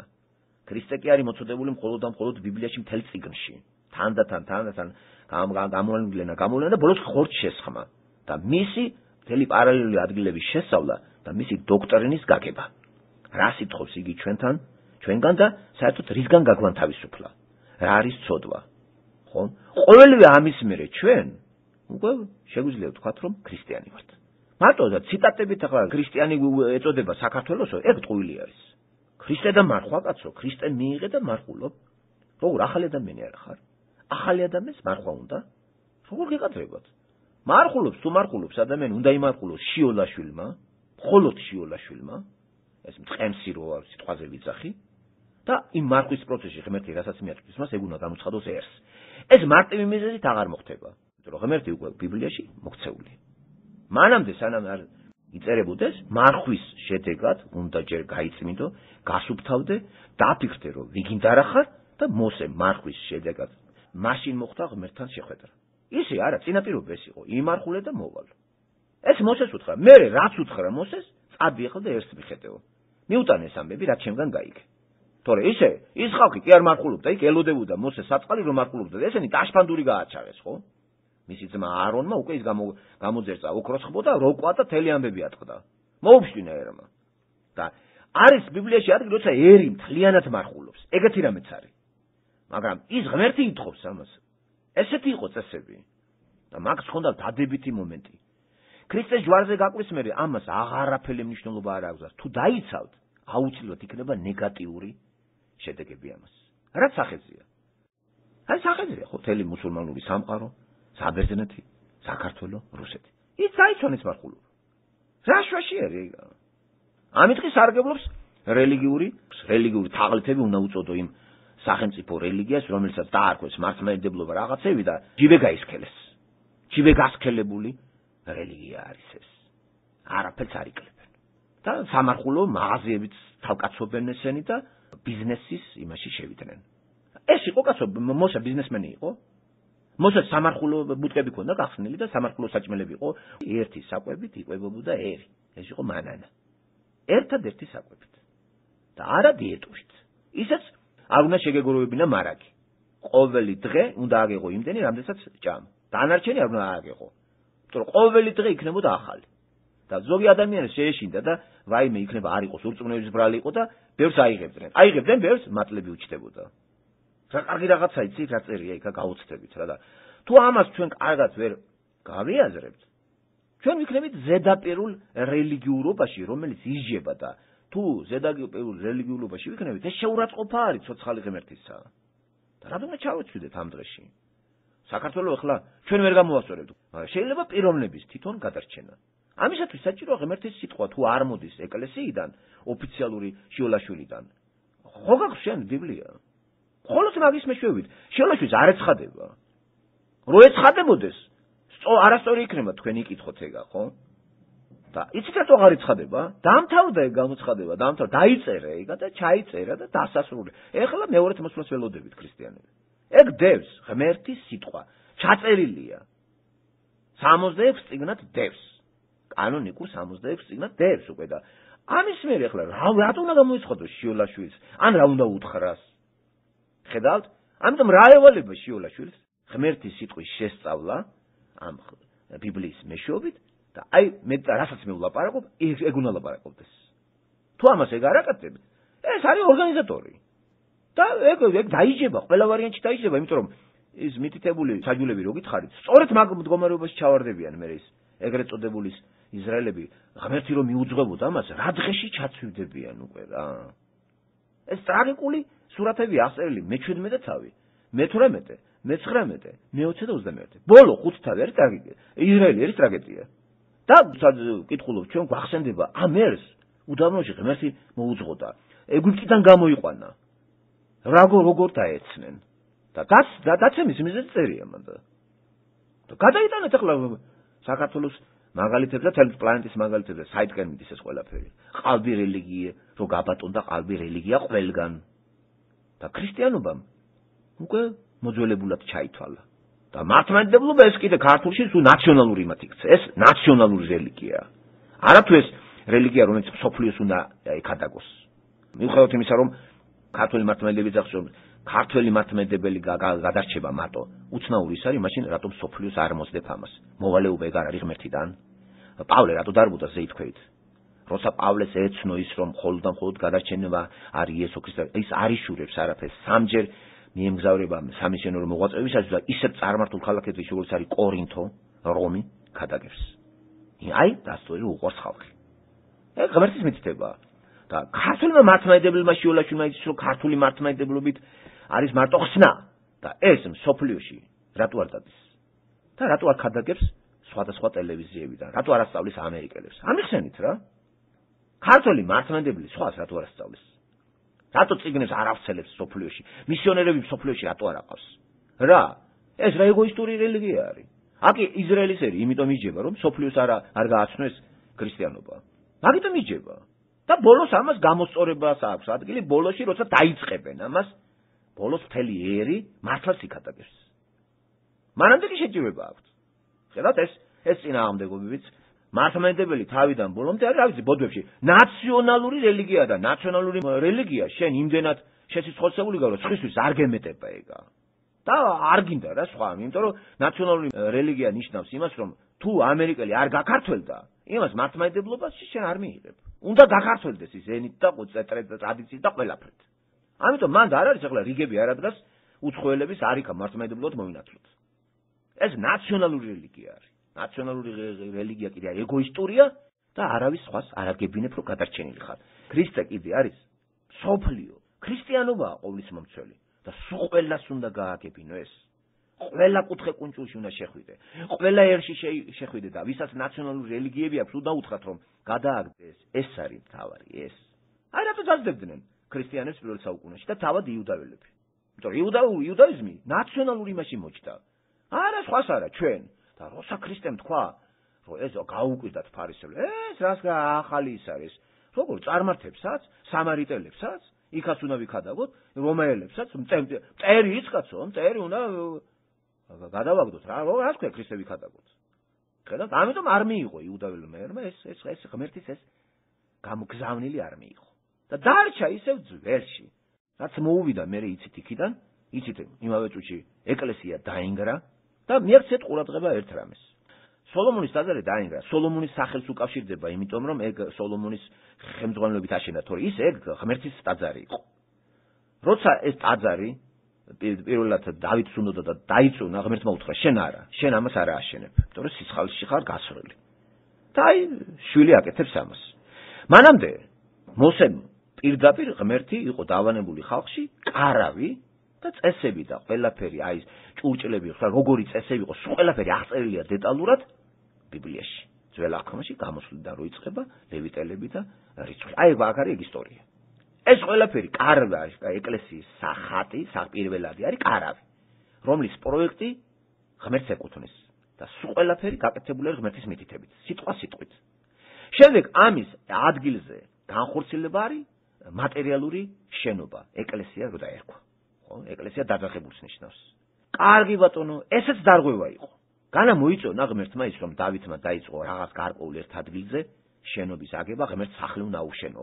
ქრისტე კი არის მოწოდებული მხოლოდ და მხოლოდ ბიბლიაში მთელ წიგნში. თანდათან, თანდათან გამოვლენა, გამოვლენა და ბოლოს ხორც შესხმა. და მისი მთელი პარალელური ადგილების შესწავლა და მისი დოქტრინის გაგება. რა სიტყობს იგი ჩვენთან, ჩვენგან და საერთოდ რისგან გაგვანთავისუფლა? რა არის ცოდვა? ხო? ყოველივე ამის მერე ჩვენ უკვე შეგვიძლია ვთქვათ, რომ ქრისტიანი ვართ. მარტო და ციტატებით ახლა ქრისტიანი ეწოდება საქართველოსო, ეგ ტყუილი არის. ქრისტე და მარხვა კაცო, ქრისტე მიიღე და მარხულობ. როგორ ახალი ადამიანი არა ხარ? ახალი ადამიანს მარხვა უნდა? როგორ გეკადრებათ? მარხულობს თუ მარხულობს ადამიანი უნდა იმარხულოს შიოლაშვილმა, მხოლოდ შიოლაშვილმა, ეს მწყემსი რო არის სიტყვაზე ვიძახი და იმ მარხვის პროცესში ღმერთი რასაც მიაწვდის მას, ეგ უნდა გამოცხადოს ერს. ეს მარტივი მიზეზით აღარ მოხდება. რომ ღმერთი უკვე ბიბლიაში მოქცეული. მანამდე სანამ არ იწერებოდეს, მარხვის შედეგად უნდა ჯერ გაიწმინდო, გასუფთავდე, დაფიქრდე, რომ ვიგინდა რა ხარ და მოსე მარხვის შედეგად მაშინ მოხდა ღმერთთან შეხვედრა. ისე არა, წინაპირობა ეს იყო, იმარხულე და მოვალ. ეს მოსეს უთხრა, მე რაც უთხრა მოსეს, წადიახლა და ერთს მიხედეო. მიუტანე ეს ამბები, რაც ჩემგან გაიგე. თორე ისე, ის ხალხი კი არ მარხულობდა, იქ ელოდებოდა მოსეს საწყალი რომ მარხულობდა და ესენი ტაშფანდური გააჩაღეს, ხო? მისი ძმა აარონმა უკვე ის გამოძერწა ოქროს ხბო და როკვა და თელი ამბები ატყდა. მოუფშტინა ერმა. და არის ბიბლიაში ადგილი, როცა ერი მთლიანად მარხულობს. ეგეთი რამეც არის. მაგრამ ის ღმერთი ითხოვს ამას. ესეთი იყო წესები. და მაგს ხონდა დადებითი მომენტი. ქრისტეს ჯვარზე გაკვრის მერე ამას აღარაფერი მნიშვნელობა არ აქვს. თუ დაიცავთ, აუცილებლად იქნება ნეგატიური შედეგები ამას. რაც სახეზეა. აი სახელია ხო თელი მუსულმანური სამყარო, საბერძნეთი, საქართველო, რუსეთი. ის საერთოდ მართულობა. რა შვაში არის? ამიტყი სარგებლობს რელიგიური, რელიგიური თაღლითები უნდა უწოდო იმ სახელმწიფო რელიგიას, რომელსაც დაარქვეს მართლმადიდებლობა რაღაცები და ჯიბე გაისქელეს. ჯიბე გასქელებული რელიგია არის ეს. არაფერს არ იკლებენ. და სამარხულო მაღაზიებიც თავკაცობენ ესენი და ბიზნესის იმაში შევიდნენ. ეს იყო კაცო, მოსა ბიზნესმენი იყო. მოსა სამარხულო ბუტკები ქონდა გახსნილი და სამარხულო საჭმელები იყო. ერთი საკვებით იკვებებოდა ერი. ეს იყო მანანა. ერთადერთი საკვებით. და არა დიეტურით. ისეც არ უნდა შეგეგორულებინა მარაგი. ყოველი დღე უნდა აგეღო იმდენი, რამდენსაც ჭამ. დანარჩენი არ უნდა აგეღო. იმიტომ რომ ყოველი დღე იქნებოდა ახალი. და ზოგი ადამიანს შეეშინდა და ვაიმე იქნება არ იყოს ურწმუნოების ბრალი იყო და ბევრს აიღებდნენ. აიღებდნენ ბევრს მატლები უჩნდებოდა. რა კარგი რაღაცა იცი, რა წერია იქა გაუცდებით რა და თუ ამას ჩვენ კარგად ვერ გავიაზრებთ, ჩვენ ვიქნებით ზედაპირულ რელიგიურობაში, რომელიც ისჯება და თუ ზედაპირულ რელიგიურობაში ვიქნებით, ეს შეურაცხყოფა არის ცოცხალი ღმერთისა. და რატომ ჩავეცვიდეთ ამ დღეში? საქართველოს ახლა ჩვენ ვერ გამოვასწორებთ. შეიძლება პიროვნების თვითონ გადარჩენა. ამისათვის საჭიროა ღმერთის სიტყვა თუ არ მოდის ეკლესიიდან, ოფიციალური შიოლაშვილიდან. ხო გაქვს შენ ბიბლია? ხოლოს მაგის მეშვეობით, შიოლაშვილს არ ეცხადება. რო ეცხადებოდეს, არასწორი იქნება თქვენი კითხოთ ეგა, ხო? და იცით რატო აღარ ეცხადება? დაამთავრდა ეგ გამოცხადება, დაამთავრდა, დაიწერა ეგა და ჩაიწერა და დასასრული. ეხლა მეორეთ მოსვლას ველოდებით ქრისტიანები. ეგ დევს ღმერთის სიტყვა, ჩაწერილია. სამოცდაექვსი წიგნად დევს. კანონიკურ სამოცდაექვსი წიგნად დევს უკვე და ამის მერე ეხლა რატო უნდა გამოიცხადოს შიოლაშვილს? ან რა უნდა უთხრას? ხედავთ? ამიტომ რა ევალება შიოლაშვილს? ღმერთის სიტყვის შესწავლა ამ ბიბლიის მეშვეობით და აი მე რასაც მე ვლაპარაკობ, ეგ უნდა ლაპარაკობდეს. თუ ამას ეგ არ აკეთებ, ეს არის ორგანიზატორი. და ეგ ეგ დაიჯება, ყველა ვარიანტში დაიჯება, იმიტომ რომ ის მითითებული საჯულები რო გითხარით, სწორედ მაგ მდგომარეობაში ჩავარდებიან მე ის ეგრეთ წოდებული ისრაელები, ღმერთი რომ მიუძღვებოდა ამას, რა დღეში ჩაცვივდებიან უკვე რა. ეს ტრაგიკული სურათები აღწერილი მეჩვიდმეტე თავი, მეთვრამეტე, მეცხრამეტე, მეოცე და ოცდამეერთე. ბოლო ხუთ თავი არის ტრაგედია. ისრაელი არის ტრაგედია. და კითხულობ ჩვენ გვახსენდება ამ ერს უდაბნოში ღმერთი მოუძღოდა. ეგვიპტიდან გამოიყვანა. როგორ როგორ დაეცნენ. და დაც დაცემის მიზეზი წერია მან და. და გადაიტანეთ ახლა საქართველოს მაგალითებზე, თელ პლანეტის მაგალითებზე, საითკენ მიდის ეს ყველაფერი. ყალბი რელიგია, რო გაბატონდა ყალბი რელიგია ყველგან. და ქრისტიანობამ უკვე მოძველებულად ჩაითვალა. და მართლმადიდებლობა ეს კიდე ქართულში თუ ნაციონალური იმათ იქცა. ეს ნაციონალური რელიგია. არათუ ეს რელიგია, რომელიც სოფლიოს უნდა ეკადაგოს. მიუხედავად იმისა, რომ ქართული მართლმადიდებლები ახსოვს, ქართველი მართლმადიდებელი გადარჩება მარტო. უცნაური ის არის, მაშინ რატომ სოფლიოს არ მოსდებ ამას? მოვალეობა ეგ არ არის ღმერთიდან? პავლე რატო დარბუდა ზეითქვით? როცა პავლეს ეცნო ის, რომ მხოლოდ და მხოლოდ გადარჩენება არის იესო ქრისტე, ის არ იშურებს არაფერს. სამჯერ მიემგზავრება სამისიონერო მოღვაწეობისას და ისეთ წარმართულ ქალაქებში, როგორც არის კორინთო, რომი, გადაგებს. აი, დასწორი უყვარს ხალხი. ეგ ღმერთის მითითებაა. და ქართულმა მართლმადიდებელმა შიოლაშვილმა იცის, რომ ქართული მართლმადიდებლობით არის მარტო ხსნა და ეს მსოფლიოში რატო არ დადის? და რატო არ გადაგებს სხვადასხვა ტელევიზიებიდან? რატო არ ასწავლის ამერიკელებს? ამიხსენით რა. ქართული მართლმადიდებელი სხვას რატო არ ასწავლის? რატო წიგნებს არ ავცელებს მსოფლიოში? მისიონერები მსოფლიოში რატო არ აყავს? რა? ეს რა ეგოისტური რელიგია არის? აკი ისრაელის ერი, იმიტომ იჯება, რომ მსოფლიოს არ არ გააცნოს ქრისტიანობა. მაგიტომ იჯება. და ბოლოს ამას გამოსწორებას აქვს ადგილი ბოლოში, როცა დაიწყებენ ამას, ბოლოს მთელი ერი მართლაც იქადაგებს. მანამდე კი შეჭირება აქვს. ხედავთ ეს ეს წინააღმდეგობებიც მართლმადიდებელი თავიდან ბოლომდე არის, რა ვიცი, ბოდვებში ნაციონალური რელიგია და ნაციონალური რელიგია შენ იმდენად შესიცხოცებული გარო, სხვისთვის არ გემეტება ეგა. და არ გინდა რა სხვა, იმიტომ რომ ნაციონალური რელიგია ნიშნავს იმას, რომ თუ ამერიკელი არ გაქართველდა, იმას მართლმადიდებლობას შენ არ მიიღებ. უნდა გაქართველდეს ის ენით და ტრადიციით და ყველაფრით. ამიტომ მანდ არ არის ახლა რიგები არ ადგას უცხოელების არ იქა მართლმადიდებლად მოვინათლოთ. ეს ნაციონალური რელიგია არის. ნაციონალური რელიგია კიდე ეგოისტურია და არავის სხვას არ აგებინებ რომ გადარჩენილი ხარ. ქრისტე კიდე არის სოფლიო. ქრისტიანობაა ყოვლის მომცველი. და სულ ყველას უნდა გააგებინო ეს. ყველა კუთხე კუნჭულში უნდა შეხვიდე. ყველა ერში შეხვიდე და ვისაც ნაციონალური რელიგიები აქვს, უნდა უთხრათ რომ გადააგდეს. ეს არის მთავარი ეს. აი რატო დაძლებდნენ ქრისტიანებს პირველ საუკუნეში და თავად იუდაველები. იმიტომ რომ იუდაიზმი ნაციონალური იმაში მოჭდა. არა სხვას არა ჩვენ და როცა ქრისტემ თქვა რომ ეს გაუკვირდათ ფარისევლებს, ეს რას ახალი ის არის. როგორ წარმართებსაც, სამარიტელებსაც, იქაც უნდა ვიქადაგოთ, რომაელებსაც, მტერი იცკაცო, მტერი უნდა გადავაგდოთ რა, რას ქვია ქრისტე ვიქადაგოთ. ხედავთ, ამიტომ არ მიიღო იუდაველმა ერმა ეს ეს ეს ღმერთის ეს გამგზავნილი არ მიიღო. და დარჩა ისევ ძველში. რაც მოუვიდა მე იცით იქიდან, იცით იმავე წუთში ეკლესია დაინგრა და მიეცეთ ყურადღება ერთ რამეს. სოლომონის ტაძარი დაინგრა. სოლომონის სახელს უკავშირდება, იმიტომ რომ ეგ სოლომონის ხელმძღვანელობით აშენდა, თორე ის ეგ ღმერთის ტაძარი იყო. როცა ეს ტაძარი პირველად დავითს უნდა და დაიწუნა, ღმერთმა უთხრა, შენ არა, შენ ამას არ ააშენებ, იმიტომ რომ სიცხალში ხარ გასრული. და აი შვილი აკეთებს ამას. მანამდე მოსემ პირდაპირ ღმერთი იყო დავანებული ხალხში, კარავი და წესები და ყველაფერი, აი ჭურჭლები, ხა როგორი წესები იყო, სულ ყველაფერი აღწერილია დეტალურად ბიბლიაში. ძველ აღთქმაში გამოსვლიდან რო იწყება ლევიტელები და რიცხვი. აი აქ არის ეგ ისტორია. ეს ყველაფერი კარვა, ეკლესიის სახატი, პირველადი არის კარავი, რომლის პროექტი ღმერთს ეკუთვნის და სულ ყველაფერი გაკეთებული არის ღმერთის მითითებით, სიტყვა სიტყვით. შემდეგ ამის ადგილზე განხორციელება არის მატერიალური შენობა, ეკლესია რო დაერქვა. ხო, ეკლესია დაძახებულს ნიშნავს. კარგი ბატონო, ესეც დარღვევა იყო. განა მოიწონა ღმერთმა ის რომ დავითმა დაიწყო რაღაც გარკვეულ ერთ ადგილზე შენობის აგება, ღმერთს სახლი უნდა აუშენო.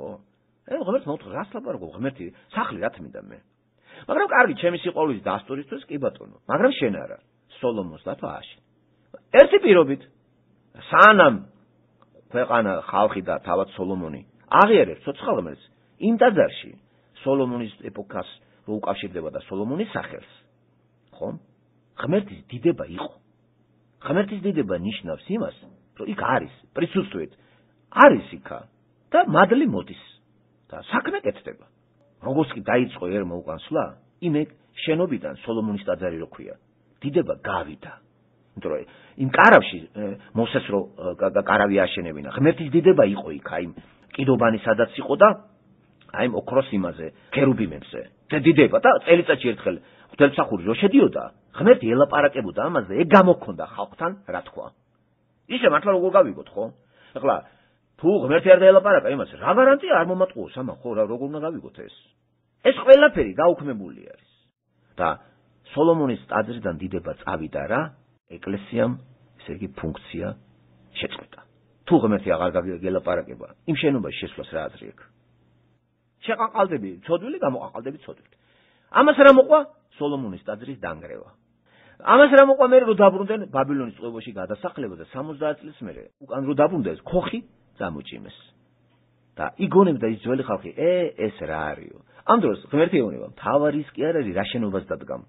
ე ღმერთს მოუთხა რას ლაპარაკობ, ღმერთი სახლი რა თმინდა მე. მაგრამ კარგი, ჩემი სიყვარულის დასტურისთვის კი ბატონო, მაგრამ შენ არა. სოლომონს დათო ააშენ. ერთი პირობით სანამ ქვეყანა ხალხი და თავად სოლომონი აღიარებს ცოცხალ ღმერთს, იმ ტაძარში სოლომონის ეპოქას რო უკავშირდება და სოლომონის სახელს, ხო? ღმერთის დიდება იყო. ღმერთის დიდება ნიშნავს იმას, რომ იქ არის, პრისუსტვით არის იქა და მადლი მოდის და საქმე კეთდება. როგორც კი დაიწყო ერმა უკან სვლა, იმ შენობიდან სოლომონის ტაძარი რო ქვია, დიდება გავიდა. იმიტომ რომ იმ კარავში მოსეს რო კარავი აშენებინა, ღმერთის დიდება იყო იქ, აი კიდობანი სადაც იყო და აი ოქროს იმაზე, ქერუბიმებზე. და დიდება და წელიწადში ერთხელ ღვთისმსახური რო შედიოდა, ღმერთი ელაპარაკებოდა ამაზე, ეგ გამოგქონდა ხალხთან, რა თქვა. ისე მართლა როგორ გავიგოთ, ხო? ეხლა თუ ღმერთი არ დაელაპარაკა იმას, რა გარანტია არ მომატყუოს ამან, ხო, რა როგორ უნდა გავიგოთ ეს? ეს ყველაფერი გაუქმებული არის. და სოლომონის ტაძრიდან დიდება წავიდა რა, ეკლესიამ ესე იგი ფუნქცია შეწყვეტა. თუ ღმერთი აღარ გაგელაპარაკება, იმ შენობაში შესვლას რა აზრი აქვს? შეყაყალდები ცოდვილი, გამოყაყალდები ცოდვილი. ამას რა მოყვა? სოლომონის ტაძრის დანგრევა. ამას რა მოყვა მერე რო დაბრუნდნენ ბაბილონის წყობაში გადასახლება და სამოცდაათ წლის მერე უკან რო დაბრუნდა ეს ქოხი წამოჭიმეს. და იგონებდა ის ძველი ხალხი, ე ეს რა არისო? ამ დროს ღმერთი ეუბნება, მთავარი ის კი არ არის რა შენობას დადგამ.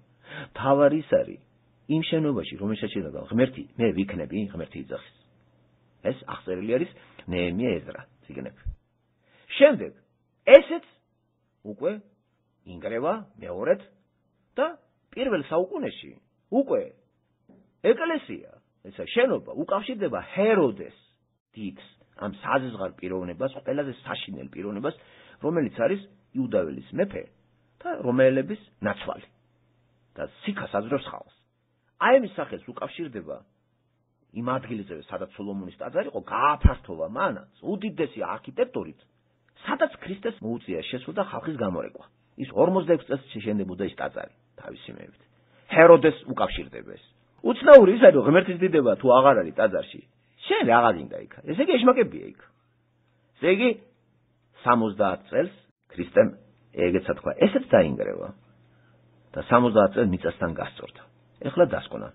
მთავარი ის არის იმ შენობაში, რომელშიც შედადგამ ღმერთი, მე ვიქნები, ღმერთი იძახის. ეს აღწერილი არის ნეემია ეზრა წიგნები. შემდეგ ესეც უკვე ინგრევა მეორედ და პირველ საუკუნეში უკვე ეკლესია, ესა შენობა უკავშირდება ჰეროდეს დიდს, ამ საზღარ პიროვნებას, ყველაზე საშინელ პიროვნებას, რომელიც არის იუდაველის მეფე და რომაელების ნაცვალი და სიქას აძლევს ხალხს. აი ამის სახელს უკავშირდება იმ ადგილზე, სადაც სოლომონის ტაძარი იყო, გააფართოვა მანაც უდიდესი არქიტექტურით, სადაც ქრისტეს მოუწია შესვლა და ხალხის გამორეკვა. ის ორმოცდაექვსი წელს შეშენდებოდა ეს ტაძარი თავისი მეებით. ჰეროდეს უკავშირდება ეს. უცნაური ის არის, რომ ღმერთის დიდება თუ აღარ არის ტაძარში, შენ რა გინდა იქ? ესე იგი ეშმაკებია იქ. ესე იგი სამოცდაათ წელს ქრისტემ ეგეცა თქვა, ესეც დაინგრევა და სამოცდაათ წელს მიწასთან გასწორდა. ეხლა დასკვნა.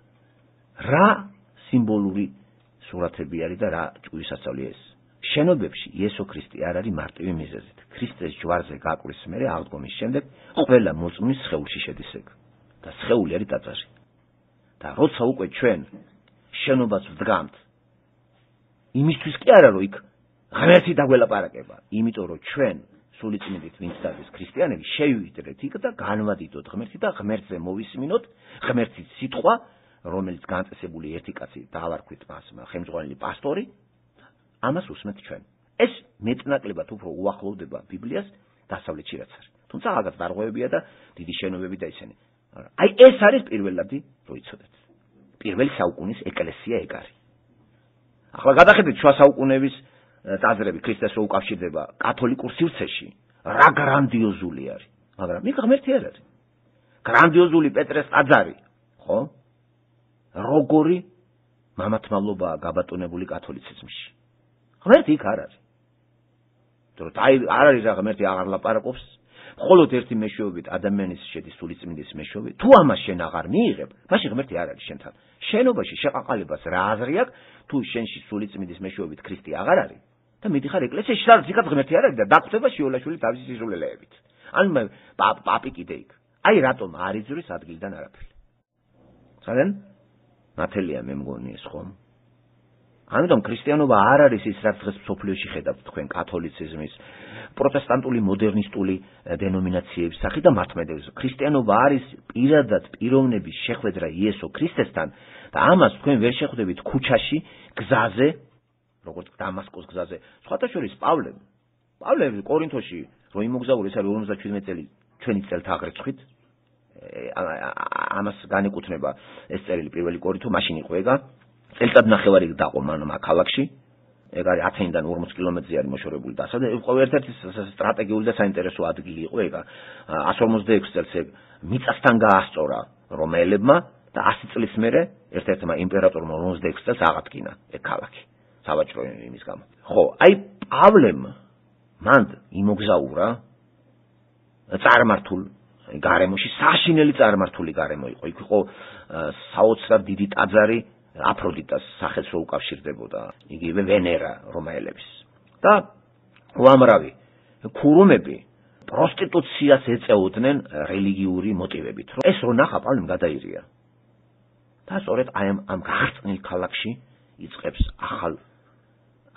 რა სიმბოლური სურათები არის და რა ჭკვისასწავლია ეს? შენობებში იესო ქრისტე არ არის მარტივი მიზეზით. ქრისტეს ჯვარზე გაკვრის მერე აღდგომის შემდეგ ყველა მოწმის სხეულში შედის ეგ და სხეული არის ტაძარი. და როცა უკვე ჩვენ შენობას ვდგამთ, იმისთვის კი არა რომ იქ ღმერთი დაგველაპარაკება, იმიტომ რომ ჩვენ სულიწმიდით ვინც დადეს ქრისტიანები შევიდრეთ იქ და განვადიდოთ ღმერთი და ღმერთზე მოვისმინოთ ღმერთის სიტყვა რომელიც განწესებული ერთი კაცი დაავარქვით მას ხელმძღვანელი პასტორი ამას უსმენთ ჩვენ ეს მეტნაკლებად უფრო უახლოვდება ბიბლიას დასავლეთში რაც არის თუმცა რაღაც დარღვევებია და დიდი შენობები და ისინი აი ეს არის პირველადი რო იცოდეთ პირველი საუკუნის ეკლესია ეგ არის ახლა გადახედეთ შუა საუკუნეების ტაძრები ქრისტეს რო უკავშირდება კათოლიკურ სივრცეში რა გრანდიოზული არის მაგრამ იქ ღმერთი არ არის გრანდიოზული პეტრეს ტაძარი ხო როგორი მამათმავლობაა გაბატონებული კათოლიციზმში ღმერთი იქ არ არის თორე აი არ არის რა ღმერთი აღარ ლაპარაკობს მხოლოდ ერთი მეშვეობით ადამიანის შედის სულიწმინდის მეშვეობით თუ ამას შენ აღარ მიიღებ მაშინ ღმერთი არ არის შენთან შენობაში შეყაყალებას რა აზრი აქვს თუ შენში სულიწმინდის მეშვეობით ქრისტე აღარ არის და მიდიხარ ეკლესიაში სადაც იქაც ღმერთი არ არის და დაგხვდება შიოლაშვილი თავისი სიზრუნველეებით ანუ პაპი კიდე იქ აი რატომ არ იძვრის ადგილიდან არაფერი ძალიან ნათელია მე მგონი ეს ხომ ამიტომ ქრისტიანობა არ არის ის რაც დღეს სოფლიოში ხედავთ თქვენ კათოლიციზმის პროტესტანტული მოდერნისტული დენომინაციების სახით და მართლმადიდებლობის ქრისტიანობა არის პირადად პიროვნების შეხვედრა იესო ქრისტესთან და ამას თქვენ ვერ შეხვდებით ქუჩაში გზაზე როგორც დამასკოს გზაზე სხვათა შორის პავლე პავლე კორინთოში რო იმოგზაურა ეს არის ორმოცდაშვიდმეტი წელი ჩვენი წელთა აღრიცხვით ამას განეკუთვნება ეს წერილი პირველი კორინთო მაშინ იყო ეგა წელწად ნახევარი დაყო მან ქალაქში ეგ არის ათენიდან ორმოც კილომეტრზე არის მოშორებული და ასა იყო ერთ-ერთი სტრატეგიული და საინტერესო ადგილი იყო ეგა εκατს ორმოცდაექვსი წელს ეგ მიწასთან გაასწორა რომაელებმა და ასი წლის მერე ერთ-ერთმა იმპერატორმა ორმოცდაექვსი წელს აღადგინა ეგ ქალაქი სავაჭრო იმის გამო ხო აი პავლემ მან იმოგზაურა წარმართულ გარემოში საშინელი წარმართული გარემო იყო იქ იყო საოცრად დიდი ტაძარი აფროდიტას სახელს რო უკავშირდებოდა იგივე ვენერა რომაელების და უამრავი ქურუმები პროსტიტუციას ეწეოდნენ რელიგიური მოტივებით ეს რო ნახა პავლემ გადაირია და სწორედ აი ამ გახსნილ ქალაქში იწყებს ახალ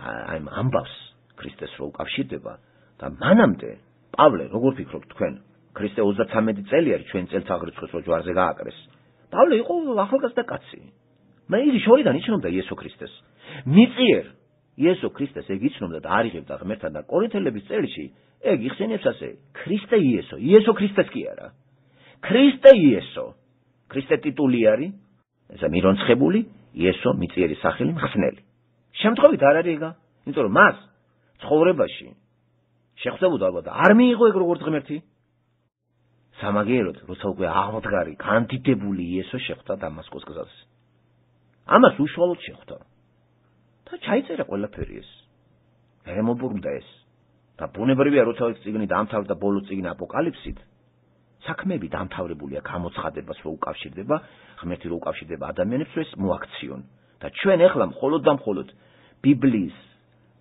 აი ამ ამბავს ქრისტეს რო უკავშირდება და მანამდე პავლე როგორ ფიქრობთ თქვენ ქრისტე ოცდათვრამეტი წელი არის ჩვენ წელთაღრიცხვის რო ჯვარზე გააკრეს პავლე იყო ახალგაზრდა კაცი მე იგი შორიდან იცნობდა იესო ქრისტეს მიწიერ იესო ქრისტეს ეგ იცნობდა და არიღებდა ღმერთთან და კორინთელების წერილში ეგ იხსენიებს ასე ქრისტე იესო იესო ქრისტეს კი არა ქრისტე იესო ქრისტე ტიტული არის ესა მირონცხებული იესო მიწიერი სახელი მხსნელი შემთხვევით არ არის ეგა იმიტომ რომ მას ცხოვრებაში შეხვდებოდა ალბათ არ მიიღო ეგ როგორც ღმერთი სამაგიეროდ როცა უკვე აღმდგარი კანდიდებული იესო შეხვდა დამასკოს გზაზე ამას უშუალოდ შეხვდა და ჩაიწერა ყველაფერი ეს მერემობრუნდა ეს და ბუნებრივია როცა ეს წიგნი დამთავრდა ბოლო წიგნი აპოკალიფსით საქმეები დამთავრებულია გამოცხადებას რო უკავშირდება ღმერთი რო უკავშირდება ადამიანებს ეს მოაქციონ და ჩვენ ეხლა მხოლოდ და მხოლოდ ბიბლიის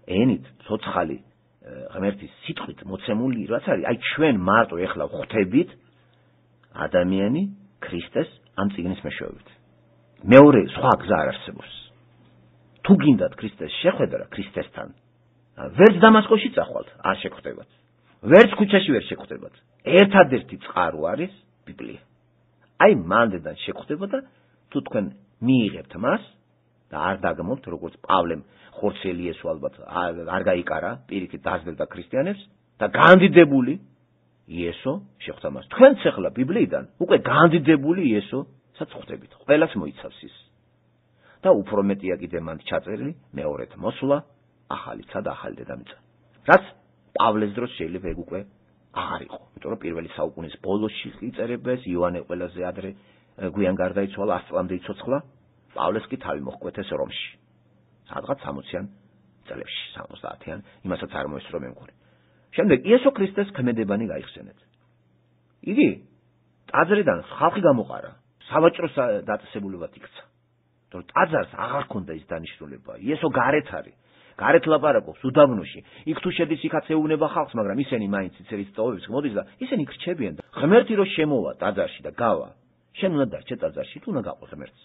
ენით ცოცხალი ღმერთის სიტყვით მოცემული რაც არის აი ჩვენ მარტო ეხლა ხვდებით ადამიანი ქრისტეს ამ წიგნის მეშვეობით მეორე სხვა გზა არ არსებობს თუ გინდათ ქრისტეს შეხვედრა ქრისტესთან ვერც დამასკოში წახვალთ არ შეგხვდებათ ვერც ქუჩაში ვერ შეგხვდებათ ერთადერთი წყარო არის ბიბლია აი მანდედან შეგხვდება და თუ თქვენ მიიღებთ მას და არ დაგმობთ როგორც პავლემ ხორცელი ესო ალბათ არ გაიკარა პირიქით დაძლებდა ქრისტიანებს და განდიდებული იესო შეხვდა მას თქვენც ახლა ბიბლიიდან უკვე განდიდებული იესოსაც ხვდებით ყველას მოიცავს ის და უფრო მეტია კიდე მან ჩაწერილი მეორედ მოსვლა ახალიცა და ახალი დედამიწა რაც პავლეს დროს შეიძლება ეგ უკვე აღარ იყო იმიტომ რომ პირველი საუკუნის ბოლოსში იწერება ეს იოანე ყველაზე ადრე გვიან გარდაიცვალა ას წლამდე იცოცხლა პავლეს კი თავი მოჰკვეთეს რომში სადღაც სამოციან წლებში სამოცდაათიან იმასაც არ მოესწრო მე მგონი შემდეგ იესო ქრისტეს ქმედებანი გაიხსენეთ იგი ტაძრიდან ხალხი გამოყარა სავაჭრო დაწესებულებად იქცა თორე ტაძარს აღარ ქონდა ის დანიშნულება იესო გარეთ არის გარეთ ლაპარაკობს უდაბნოში იქ თუ შედის იქაც ეუბნება ხალხს მაგრამ ისინი მაინც იცერის წოვებს მოდის და ისინი ხრჩებიან და ღმერთი რო შემოვა ტაძარში და გავა შენ უნდა დარჩე ტაძარში თუ უნდა გაყო ღმერთს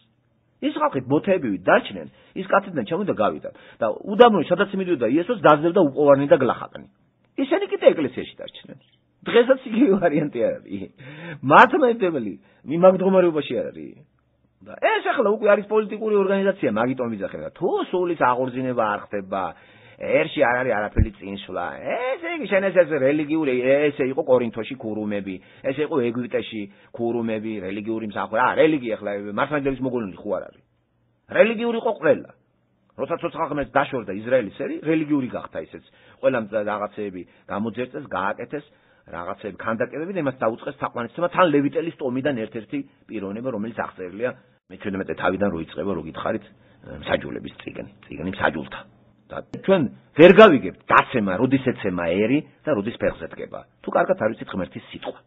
ის ხალხი ბოთეებივით დარჩნენ ის კაციდან ჩამოვიდა გავიდა და უდაბნოში სადაც მიდიოდა იესოს დაძლებდა უყოვარნი და გლახაკნი ისინი კიდე ეკლესიაში დარჩნენ. დღესაც იგივე ვარიანტი არ არის. მართლმადიდებელი მიმაგ მდგომარეობაში არ არის. და ეს ახლა უკვე არის პოლიტიკური ორგანიზაცია, მაგიტომ ვიძახებდა. თუ სულის აღორძინება არ ხდება, ერში არ არის არაფერი წინსვლა. ესე იგი შენ ეს რელიგიური, ესე იყო კორინთოში ქურუმები, ესე იყო ეგვიპტეში ქურუმები, რელიგიური მსახური. აა, რელიგია ახლა მართლმადიდებლების მოგონილი ხო არ არის. რელიგიური იყო ყველა. როცა ცოცხალ ხმებს დაშორდა ისრაელის ერი, რელიგიური გახდა ისეც. ყველა რაღაცეები გამოძერწეს, გააკეთეს, რაღაცეები ქანდაკებები და იმას დაუწყეს თაყვანისცემა თან ლევიტელის ტომიდან ერთ-ერთი პიროვნება, რომელიც აღწერილია მეჩვიდმეტე თავიდან რო იწყება, რო გითხარით, მსაჯულების წიგნი, წიგნი მსაჯულთა. და ჩვენ ვერ გავიგებთ დაცემა, როდის ეცემა ერი და როდის ფეხზე დგება. თუ კარგად არ ვიცით ღმერთის სიტყვა.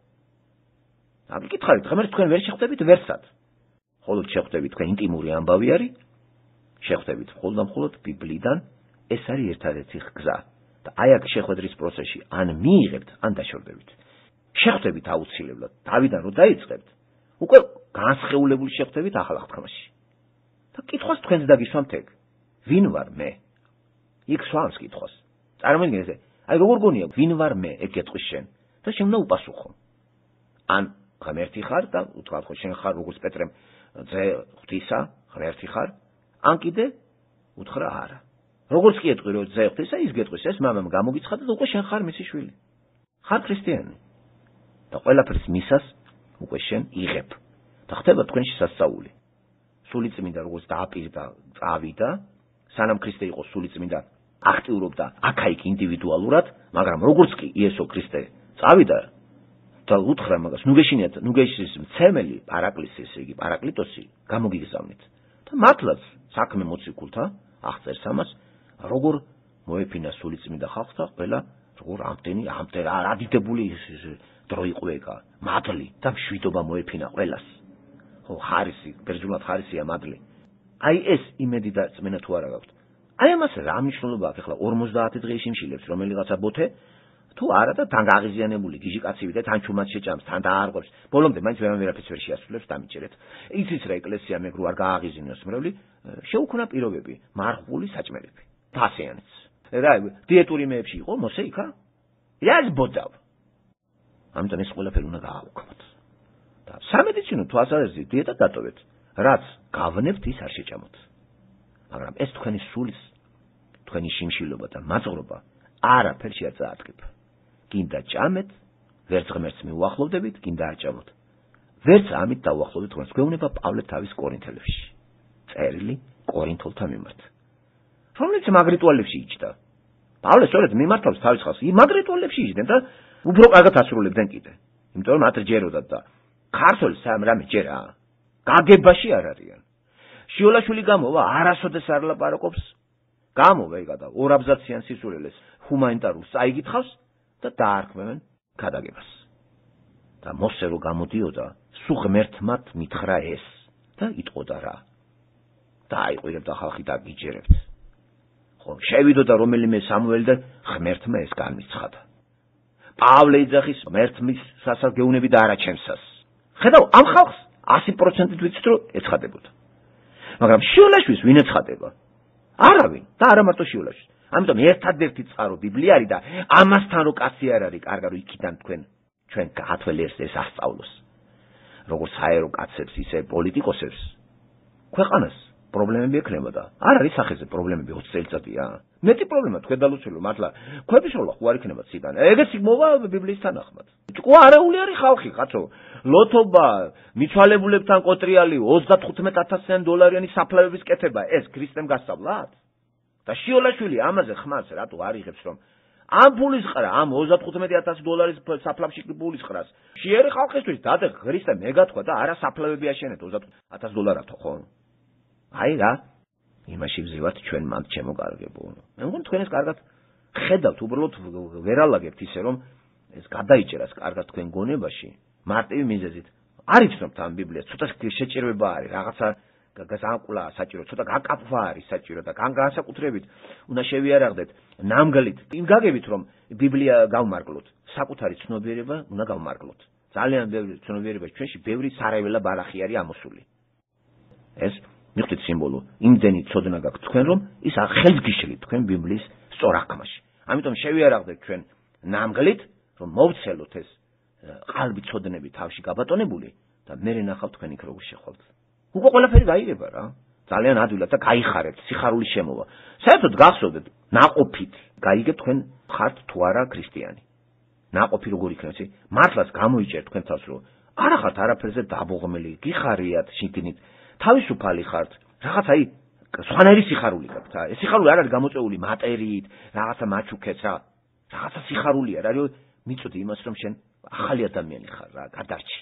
და გითხარით, ღმერთს თქვენ ვერ შეხვდებით ვერსად. მხოლოდ შეხვდებით თქვენ ინტიმური ამბავი არის, შეხვდებით მხოლოდ და მხოლოდ ბიბლიიდან, ეს არის ერთადერთი გზა. და აი აქ შეხვედრის პროცესში ან მიიღებთ, ან დაშორდებით. შეხვდებით აუცილებლად, დავიდან რო დაიწყებთ, უკვე განსხეულებული შეხვდებით ახალ აღთქმაში. და კითხვას თქვენს დაგისვამთ ეგ. ვინ ვარ მე? იქ სვამს კითხვას. წარმოიდგინე ესე, აი როგორ გონია, ვინ ვარ მე, ეგ გეტყვის შენ. და შენ უნდა უპასუხო. ან ღმერთი ხარ და უთქვათ ხო შენ ხარ როგორც პეტრემ ძე ღვთისა, ღმერთი ხარ, ან კიდე უთხრა არა. როგორც კი ეტყვი რომ ძე ღვთისა, ის გეტყვის ეს მამამ გამოგიცხადა და უკვე შენ ხარ მისი შვილი. ხარ ქრისტიანი. და ყველაფრის მისას უკვე შენ იღებ. და ხდება თქვენში სასწაული. სულიწმინდა როგორც დააპირდა, წავიდა, სანამ ქრისტე იყო სულიწმინდა, აქტიურობდა აქა-იქ ინდივიდუალურად, მაგრამ როგორც კი იესო ქრისტე წავიდა და უთხრა მაგას, ნუ გეშინიათ, ნუ გეშის მცემელი პარაკლისი, ესე იგი პარაკლიტოსი გამოგიგზავნით. და მართლაც საქმე მოციქულთა აღწერს ამას, როგორ მოეფინა სულიწმინდა ხალხს და ყველა როგორ ამდენი ამდენ ადიდებული დრო იყო ეგა, მადლი და მშვიდობა მოეფინა ყველას. ხო, ხარისი, ბერძნულად ხარისია მადლი. აი ეს იმედი და წმენა თუ არა გაქვთ. აი ამას რა მნიშვნელობა აქვს ახლა ორმოცდაათი დღე ისიმშილებს რომელიღაცა ბოთე თუ არა და თან გაღიზიანებული გიჟი კაცივი და თან ჩუმად შეჭამს, თან დაარღვევს. ბოლომდე მაინც ვერან ვერაფერს ვერ შეასრულებს, დამიჯერეთ. იცის რა ეკლესია მეგრუ არ გააღიზინოს მრევლი, შეუქმნა პირობები, მარხული საჭმელები. ფასიანიც. რა დიეტური მეებში იყო მოსე იქა? იას ბოდავ. ამიტომ ეს ყველაფერი უნდა გააუქმოთ. და სამედიცინო თვალსაზრისით დიეტა დატოვეთ. რაც გავნებთ ის არ შეჭამოთ. მაგრამ ეს თქვენი სულის, თქვენი შიმშილობა და მაწყობა არაფერში არ წაადგება. გინდა ჭამეთ, ვერც ღმერთს მიუახლოვდებით, გინდა არ ჭამოთ. ვერც ამით დაუახლოვდეთ თქვენს. გვეუბნება პავლე თავის კორინთელებში. წერილი კორინთელთა მიმართ. რომელიც მაგ რიტუალებში იჯდა. პავლე სწორედ მიმართავს თავის ხალხს. მაგ რიტუალებში იჯდნენ და უფრო კარგად ასრულებდნენ კიდე. იმიტომ რომ მათ ჯეროდათ და ქართველს სამ რამე ჯერა. გაგებაში არ არიან. შიოლაშვილი გამოვა, არასოდეს არ ლაპარაკობს. გამოვა ეგა და ორ აბზაციან სისულელეს ჰუმანიტარულს წაიგითხავს და დაარქმევენ გადაგებას. და მოსე რო გამოდიოდა, სულ ღმერთმად მითხრა ეს და იტყოდა რა. და აიყვირებდა ხალხი და გიჯერებთ. ხო, შევიდოდა რომელიმე სამუელი და ღმერთმა ეს განმიცხადა. პავლე იძახის ღმერთმის სასას გეუნები და არა ჩემსას. ხედავ, ამ ხალხს ასი პროცენტით ვიცით რომ ეცხადებოდა. მაგრამ შიოლაშვილს ვინ ეცხადება? არავინ და არა მარტო შიოლაშვილს. ამიტომ ერთადერთი წყარო ბიბლია არის და ამასთან რო კაცი არ არის, კარგა რომ იქიდან თქვენ ჩვენ გაათვალიერს ეს ასწავლოს. როგორც აერო კაცებს, ისე პოლიტიკოსებს ქვეყანას პრობლემები ექნებოდა. არ არის სახეზე პრობლემები ოცი წელიწადია. მეტი პრობლემა თქვენ დალოცულო, მართლა ქვებიშოლა ხო არ იქნება ციდან. ეგეც მოვა ბიბლიის თანახმად. ყო არეული არის ხალხი, კაცო. ლოთობა, მიცვალებულებთან კოტრიალი ოცდათხუთმეტ ათასიან დოლარიანი საფლავების კეთება, ეს ქრისტემ გასწავლათ? და შიოლაშვილი ამაზე ხმას რატო არ იღებს რომ ამ ფულის ყრა, ამ ოცდათხუთმეტ ათასი დოლარის საფლავში ფულის ყრას. შეერი ხალხისთვის დადე ქრისტე მეგათქვა და არა საფლავები აშენეთ ოცდათხუთმეტ ათასი დოლარათო ხო? აი რა, იმაში ვზივართ ჩვენ მანდ ჩემო კარგებო. მე მგონი თქვენ ეს კარგად ხედავთ, უბრალოდ ვერალაგებთ ისე რომ ეს გადაიჭერას კარგად თქვენ გონებაში, მარტივი მიზეზით. არ იცნობთ ამ ბიბლიას, ცოტა შეჭირება არის, რაღაცა გაზანკულა საჭირო, ცოტა გაკაფვა არის საჭირო და განსაკუთრებით უნდა შევიარაღდეთ ნამგლით. იმ გაგებით რომ ბიბლია გავმარგლოთ, საკუთარი ცნობიერება უნდა გავმარგლოთ. ძალიან ბევრი ცნობიერება ჩვენში ბევრი სარეველა ბალახი არის ამოსული. ეს მიხვდით სიმბოლო, იმდენი ცოდნა გაქვთ თქვენ რომ ის ხელს გიშლით თქვენ ბიბლიის სწორ აღქმაში. ამიტომ შევიარაღდეთ ჩვენ ნამგლით, რომ მოვცელოთ ეს ყალბი ცოდნები თავში გაბატონებული და მე ნახავ თქვენ იქ როგორ შეხვალთ. უკვე ყველაფერი გაიგება რა. ძალიან ადვილად და გაიხარეთ, სიხარული შემოვა. საერთოდ გახსოვდეთ, ნაყოფით გაიგებთ თქვენ ხართ თუ არა ქრისტიანი. ნაყოფი როგორ იქნება, იცი? მართლაც გამოიჭერთ თქვენ თავს, რომ არა ხართ არაფერზე დაბოღმელი, გიხარიათ შიგნით, თავისუფალი ხართ. რაღაც აი სხვანაირი სიხარული გაქვთ. ეს სიხარული არ არის გამოწვეული მატერიით, რაღაცა მაჩუქეთ რა. რაღაცა სიხარულია რა, რომ მიწოდი იმას, რომ შენ ახალი ადამიანი ხარ რა, გადარჩი.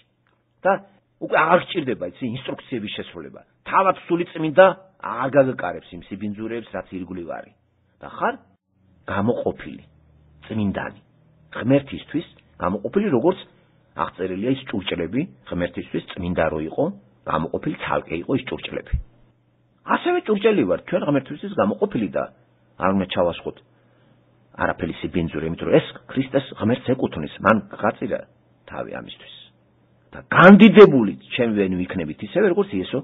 და უკვე აღარ გჭირდება იცი ინსტრუქციების შესრულება. თავად სული წმინდა აღარ გაგაკარებს იმ სიბინძურებს, რაც ირგვლივ არის. და ხარ გამოყოფილი, წმინდანი. ღმერთისთვის გამოყოფილი როგორც აღწერილია ის ჭურჭლები, ღმერთისთვის წმინდა რო იყო, გამოყოფილი ცალკე იყო ის ჭურჭლები. ასევე ჭურჭელი ვარ, ჩვენ ღმერთისთვის გამოყოფილი და არ უნდა ჩავასხოთ არაფერი სიბინძური, იმიტომ რომ ეს ქრისტეს ღმერთს ეკუთვნის, მან გაწირა თავი ამისთვის. და განდიდებული ჩვენ ვენ ვიქნებით ისევე როგორც იესო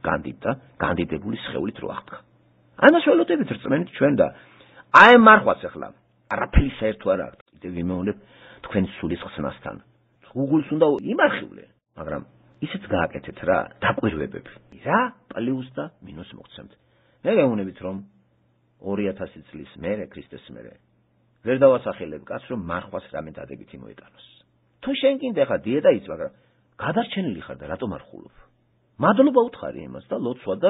განდიდდა, განდიდებული სხეულით რო აღდგა. ამას ველოდებით რწმენით ჩვენ და აი მარხვაც ახლა არაფერი საერთო არ აქვს. კიდევ ვიმეორებ თქვენ სულის ხსნასთან. გუგულს უნდა იმარხივლე, მაგრამ ისიც გააკეთეთ რა, დაკვირვებები. რა პლუს და მინუს მოგცემთ. მე გეუბნებით რომ ორი ათასი წლის მერე ქრისტეს მერე ვერ დავასახელებ კაცს რომ მარხვას რამე დადებითი მოეტანოს. თუ შენ კიდე ხა დიეტა იც, მაგრამ გადარჩენილი ხარ და რატომ არ ხულობ? მადლობა უთხარი იმას და ლოცვა და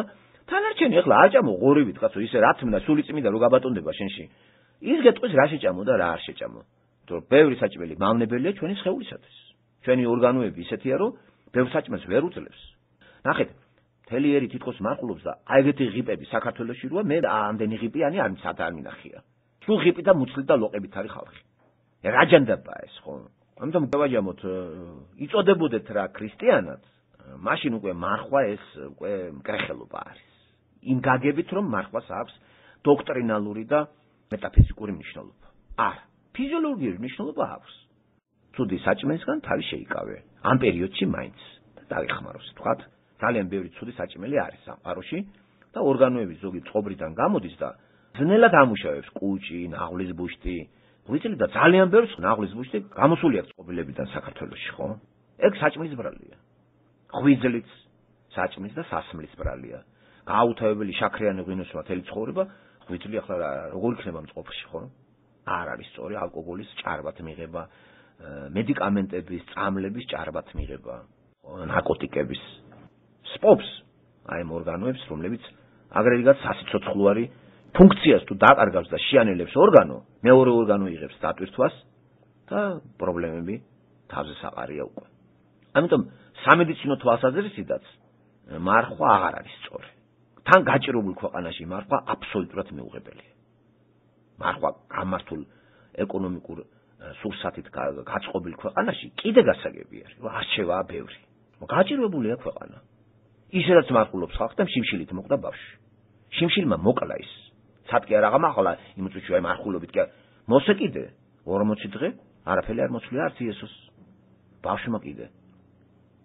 თანარჩენი ახლა აჭამო ღორივით კაცო, ისე რა თმდა სული წმინდა რო გაბატონდება შენში. ის გეტყვის რა შეჭამო და რა არ შეჭამო. თუ ბევრი საჭმელი მავნებელია ჩვენი სხეულისათვის. ჩვენი ორგანოები ისეთია რომ ბევრ საჭმელს ვერ უძლებს. ნახეთ, მთელი ერი თითქოს მარყულობს და აი ეგეთი ღიპები საქართველოში როა მე ამდენი ღიპიანი არ მიცად არ მინახია. სულ ღიპი და მუცლი და ლოყებით არის ხალხი. რა ჯანდაბაა ეს ხო? ამიტომ გავაჯამოთ, იწოდებოდეთ რა ქრისტიანად, მაშინ უკვე მარხვა ეს უკვე მკრეხელობა არის. იმ გაგებით რომ მარხვას აქვს დოქტრინალური და მეტაფიზიკური მნიშვნელობა. არა, ფიზიოლოგიური მნიშვნელობა აქვს. ცუდი საჭმელისგან თავი შეიკავე. ამ პერიოდში მაინც და დაიხმაროს. თქვათ, ძალიან ბევრი ცუდი საჭმელი არის სამყაროში და ორგანოები ზოგი წყობრიდან გამოდის და ძნელად ამუშავებს კუჭი, ნაღლის ბუშტი. ღვიძლი და ძალიან ბევრს ნაღლის ბუშტი გამოსული აქვს წყობილებიდან საქართველოში, ხო? ეგ საჭმლის ბრალია. ღვიძლიც საჭმლის და სასმლის ბრალია. გააუთავებელი შაქრიანი ღვინოსმა თელი ცხოვრება, ღვიძლი ახლა როგორ იქნება მწყობრში, ხო? არ არის სწორი, ალკოჰოლის ჭარბად მიღება, მედიკამენტების, წამლების ჭარბად მიღება, ნარკოტიკების. სპობს აი ამ ორგანოებს, რომლებიც აგრეგატ სასიცოცხლოარი ფუნქციას თუ დაკარგავს და შეანელებს ორგანო, მეორე ორგანო იღებს დატვირთვას და პრობლემები თავზე საყარია უკვე. ამიტომ სამედიცინო თვალსაზრისითაც მარხვა აღარ არის სწორი. თან გაჭირებულ ქვეყანაში მარხვა აბსოლუტურად მეუღებელია. მარხვა გამართულ ეკონომიკურ სურსათით გაწყობილ ქვეყანაში კიდე გასაგები არის. არჩევაა ბევრი. გაჭირებულია ქვეყანა. ისედაც მარხულობს ხალხი და შიმშილით მოკვდა ბავშვი. შიმშილმა მოკლა ის. სათქე არ აღამახლა იმ წუთში აი მარხულობით კი მოსე კიდე ორმოცი დღე არაფერი არ მოцлია არც იესოს. ბავშვმა კიდე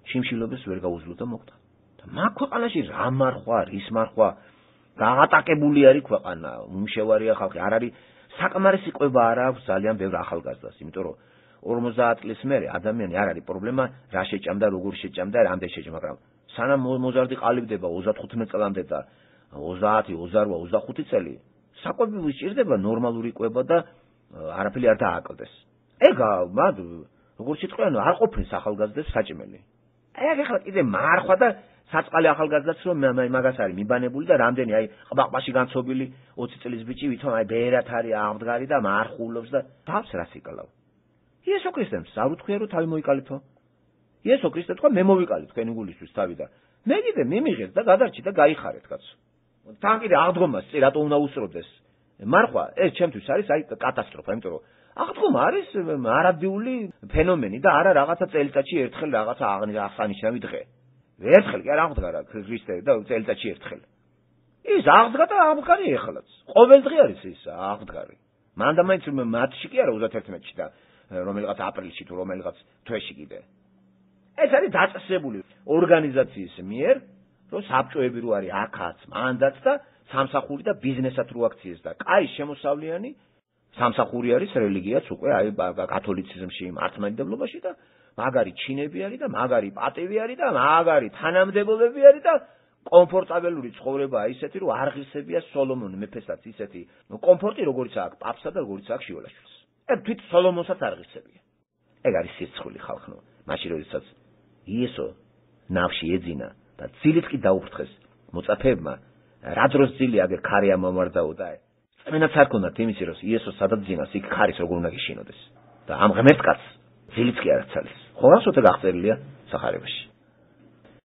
შიმშილობას ვერ გაუძლო და მოკვდა. და მაგ ქვეყანაში რა მარხვა, რის მარხვა გაატაკებული არის ქვეყანა, უმშევარია ხალხი, არ არის საკმარისი ყვება არ აქვს ძალიან ბევრ ახალგაზრდას, იმიტომ რომ ორმოცდაათ წლის მერე ადამიანი არ არის პრობლემა რა შეჭამდა, როგორ შეჭამდა, რამდენ შეჭამდა, მაგრამ სანამ მოზარდი ყალიბდება ოცდათხუთმეტ წლამდე და ოცდაათი, ოცდარვა, ოცდახუთი წელი საკვები ვისჭირდება ნორმალური ყვება და არაფერი არ დააკლდეს. ეგა მად როგორ შეწყენ არ ყოფნის ახალგაზრდებს საჭმელი. ეგ ახლა კიდე მარხვა და საწყალი ახალგაზრდაც რომ მაგას არის მიბანებული და რამდენი აი ყბაყბაში განცობილი ოცი წლის ბიჭი ვითომ აი ბერათ არის აღდგარი და მარხულობს და თავს რას იკალავ. იესო ქრისტემს არ უთქვია რომ თავი მოიკალითო. იესო ქრისტე თქვა მე მოვიკალი თქვენი გულისთვის თავი და მე კიდე მიმიღეთ და გადარჩი და გაიხარეთ კაცო. თან კიდე აღდგომას წი რატო უნდა უსწროდეს. მარხვა ეს ჩემთვის არის აი კატასტროფა, იმიტომ რომ აღდგომა არის არადიული ფენომენი და არა რაღაცა წელიწადში ერთხელ რაღაცა აღსანიშნავი დღე. ერთხელ კი არ აღდგა რა ქრისტე და წელიწადში ერთხელ. ის აღდგა და აღდგარი ეხლაც. ყოველ დღე არის ის აღდგარი. მანდა მაინც მარტში კი არა ოცდაათერთმეტში და რომელიღაც აპრილში თუ რომელიღაც თვეში კიდე. ეს არის დაწესებული ორგანიზაციის მიერ, რომ საბჭოები რო არის აქაც, მანდაც და სამსახური და ბიზნესად რო აქციეს და კაი შემოსავლიანი სამსახური არის რელიგიაც უკვე აი კათოლიციზმში, მართლმადიდებლობაში და მაგარი ჩინები არის და მაგარი პატივი არის და მაგარი თანამდებობები არის და კომფორტაბელური ცხოვრება ისეთი რომ არღისებია სოლომონ მეფესაც ისეთი კომფორტი როგორიც აქვს პაპსა და როგორიც აქვს შიოლაშვილს. ეგ თვით სოლომონსაც არღისებია. ეგ არის სირცხული ხალხნო. მაშინ როდესაც იესო ნავში ეძინა და ძილით კი დაუფრთხეს მოწაფეებმა, რა დროს ძილი აგერ ქარი ამომარდაო და წმენაც არ ქონდათ იმისი რომ იესო სადაც ძინას იქ ქარის როგორ უნდა გიშინოდეს და ამ ღმერთ კაცს ძილიც კი არ აცალეს. ხო რასოთე გახწერილია სახარებაში.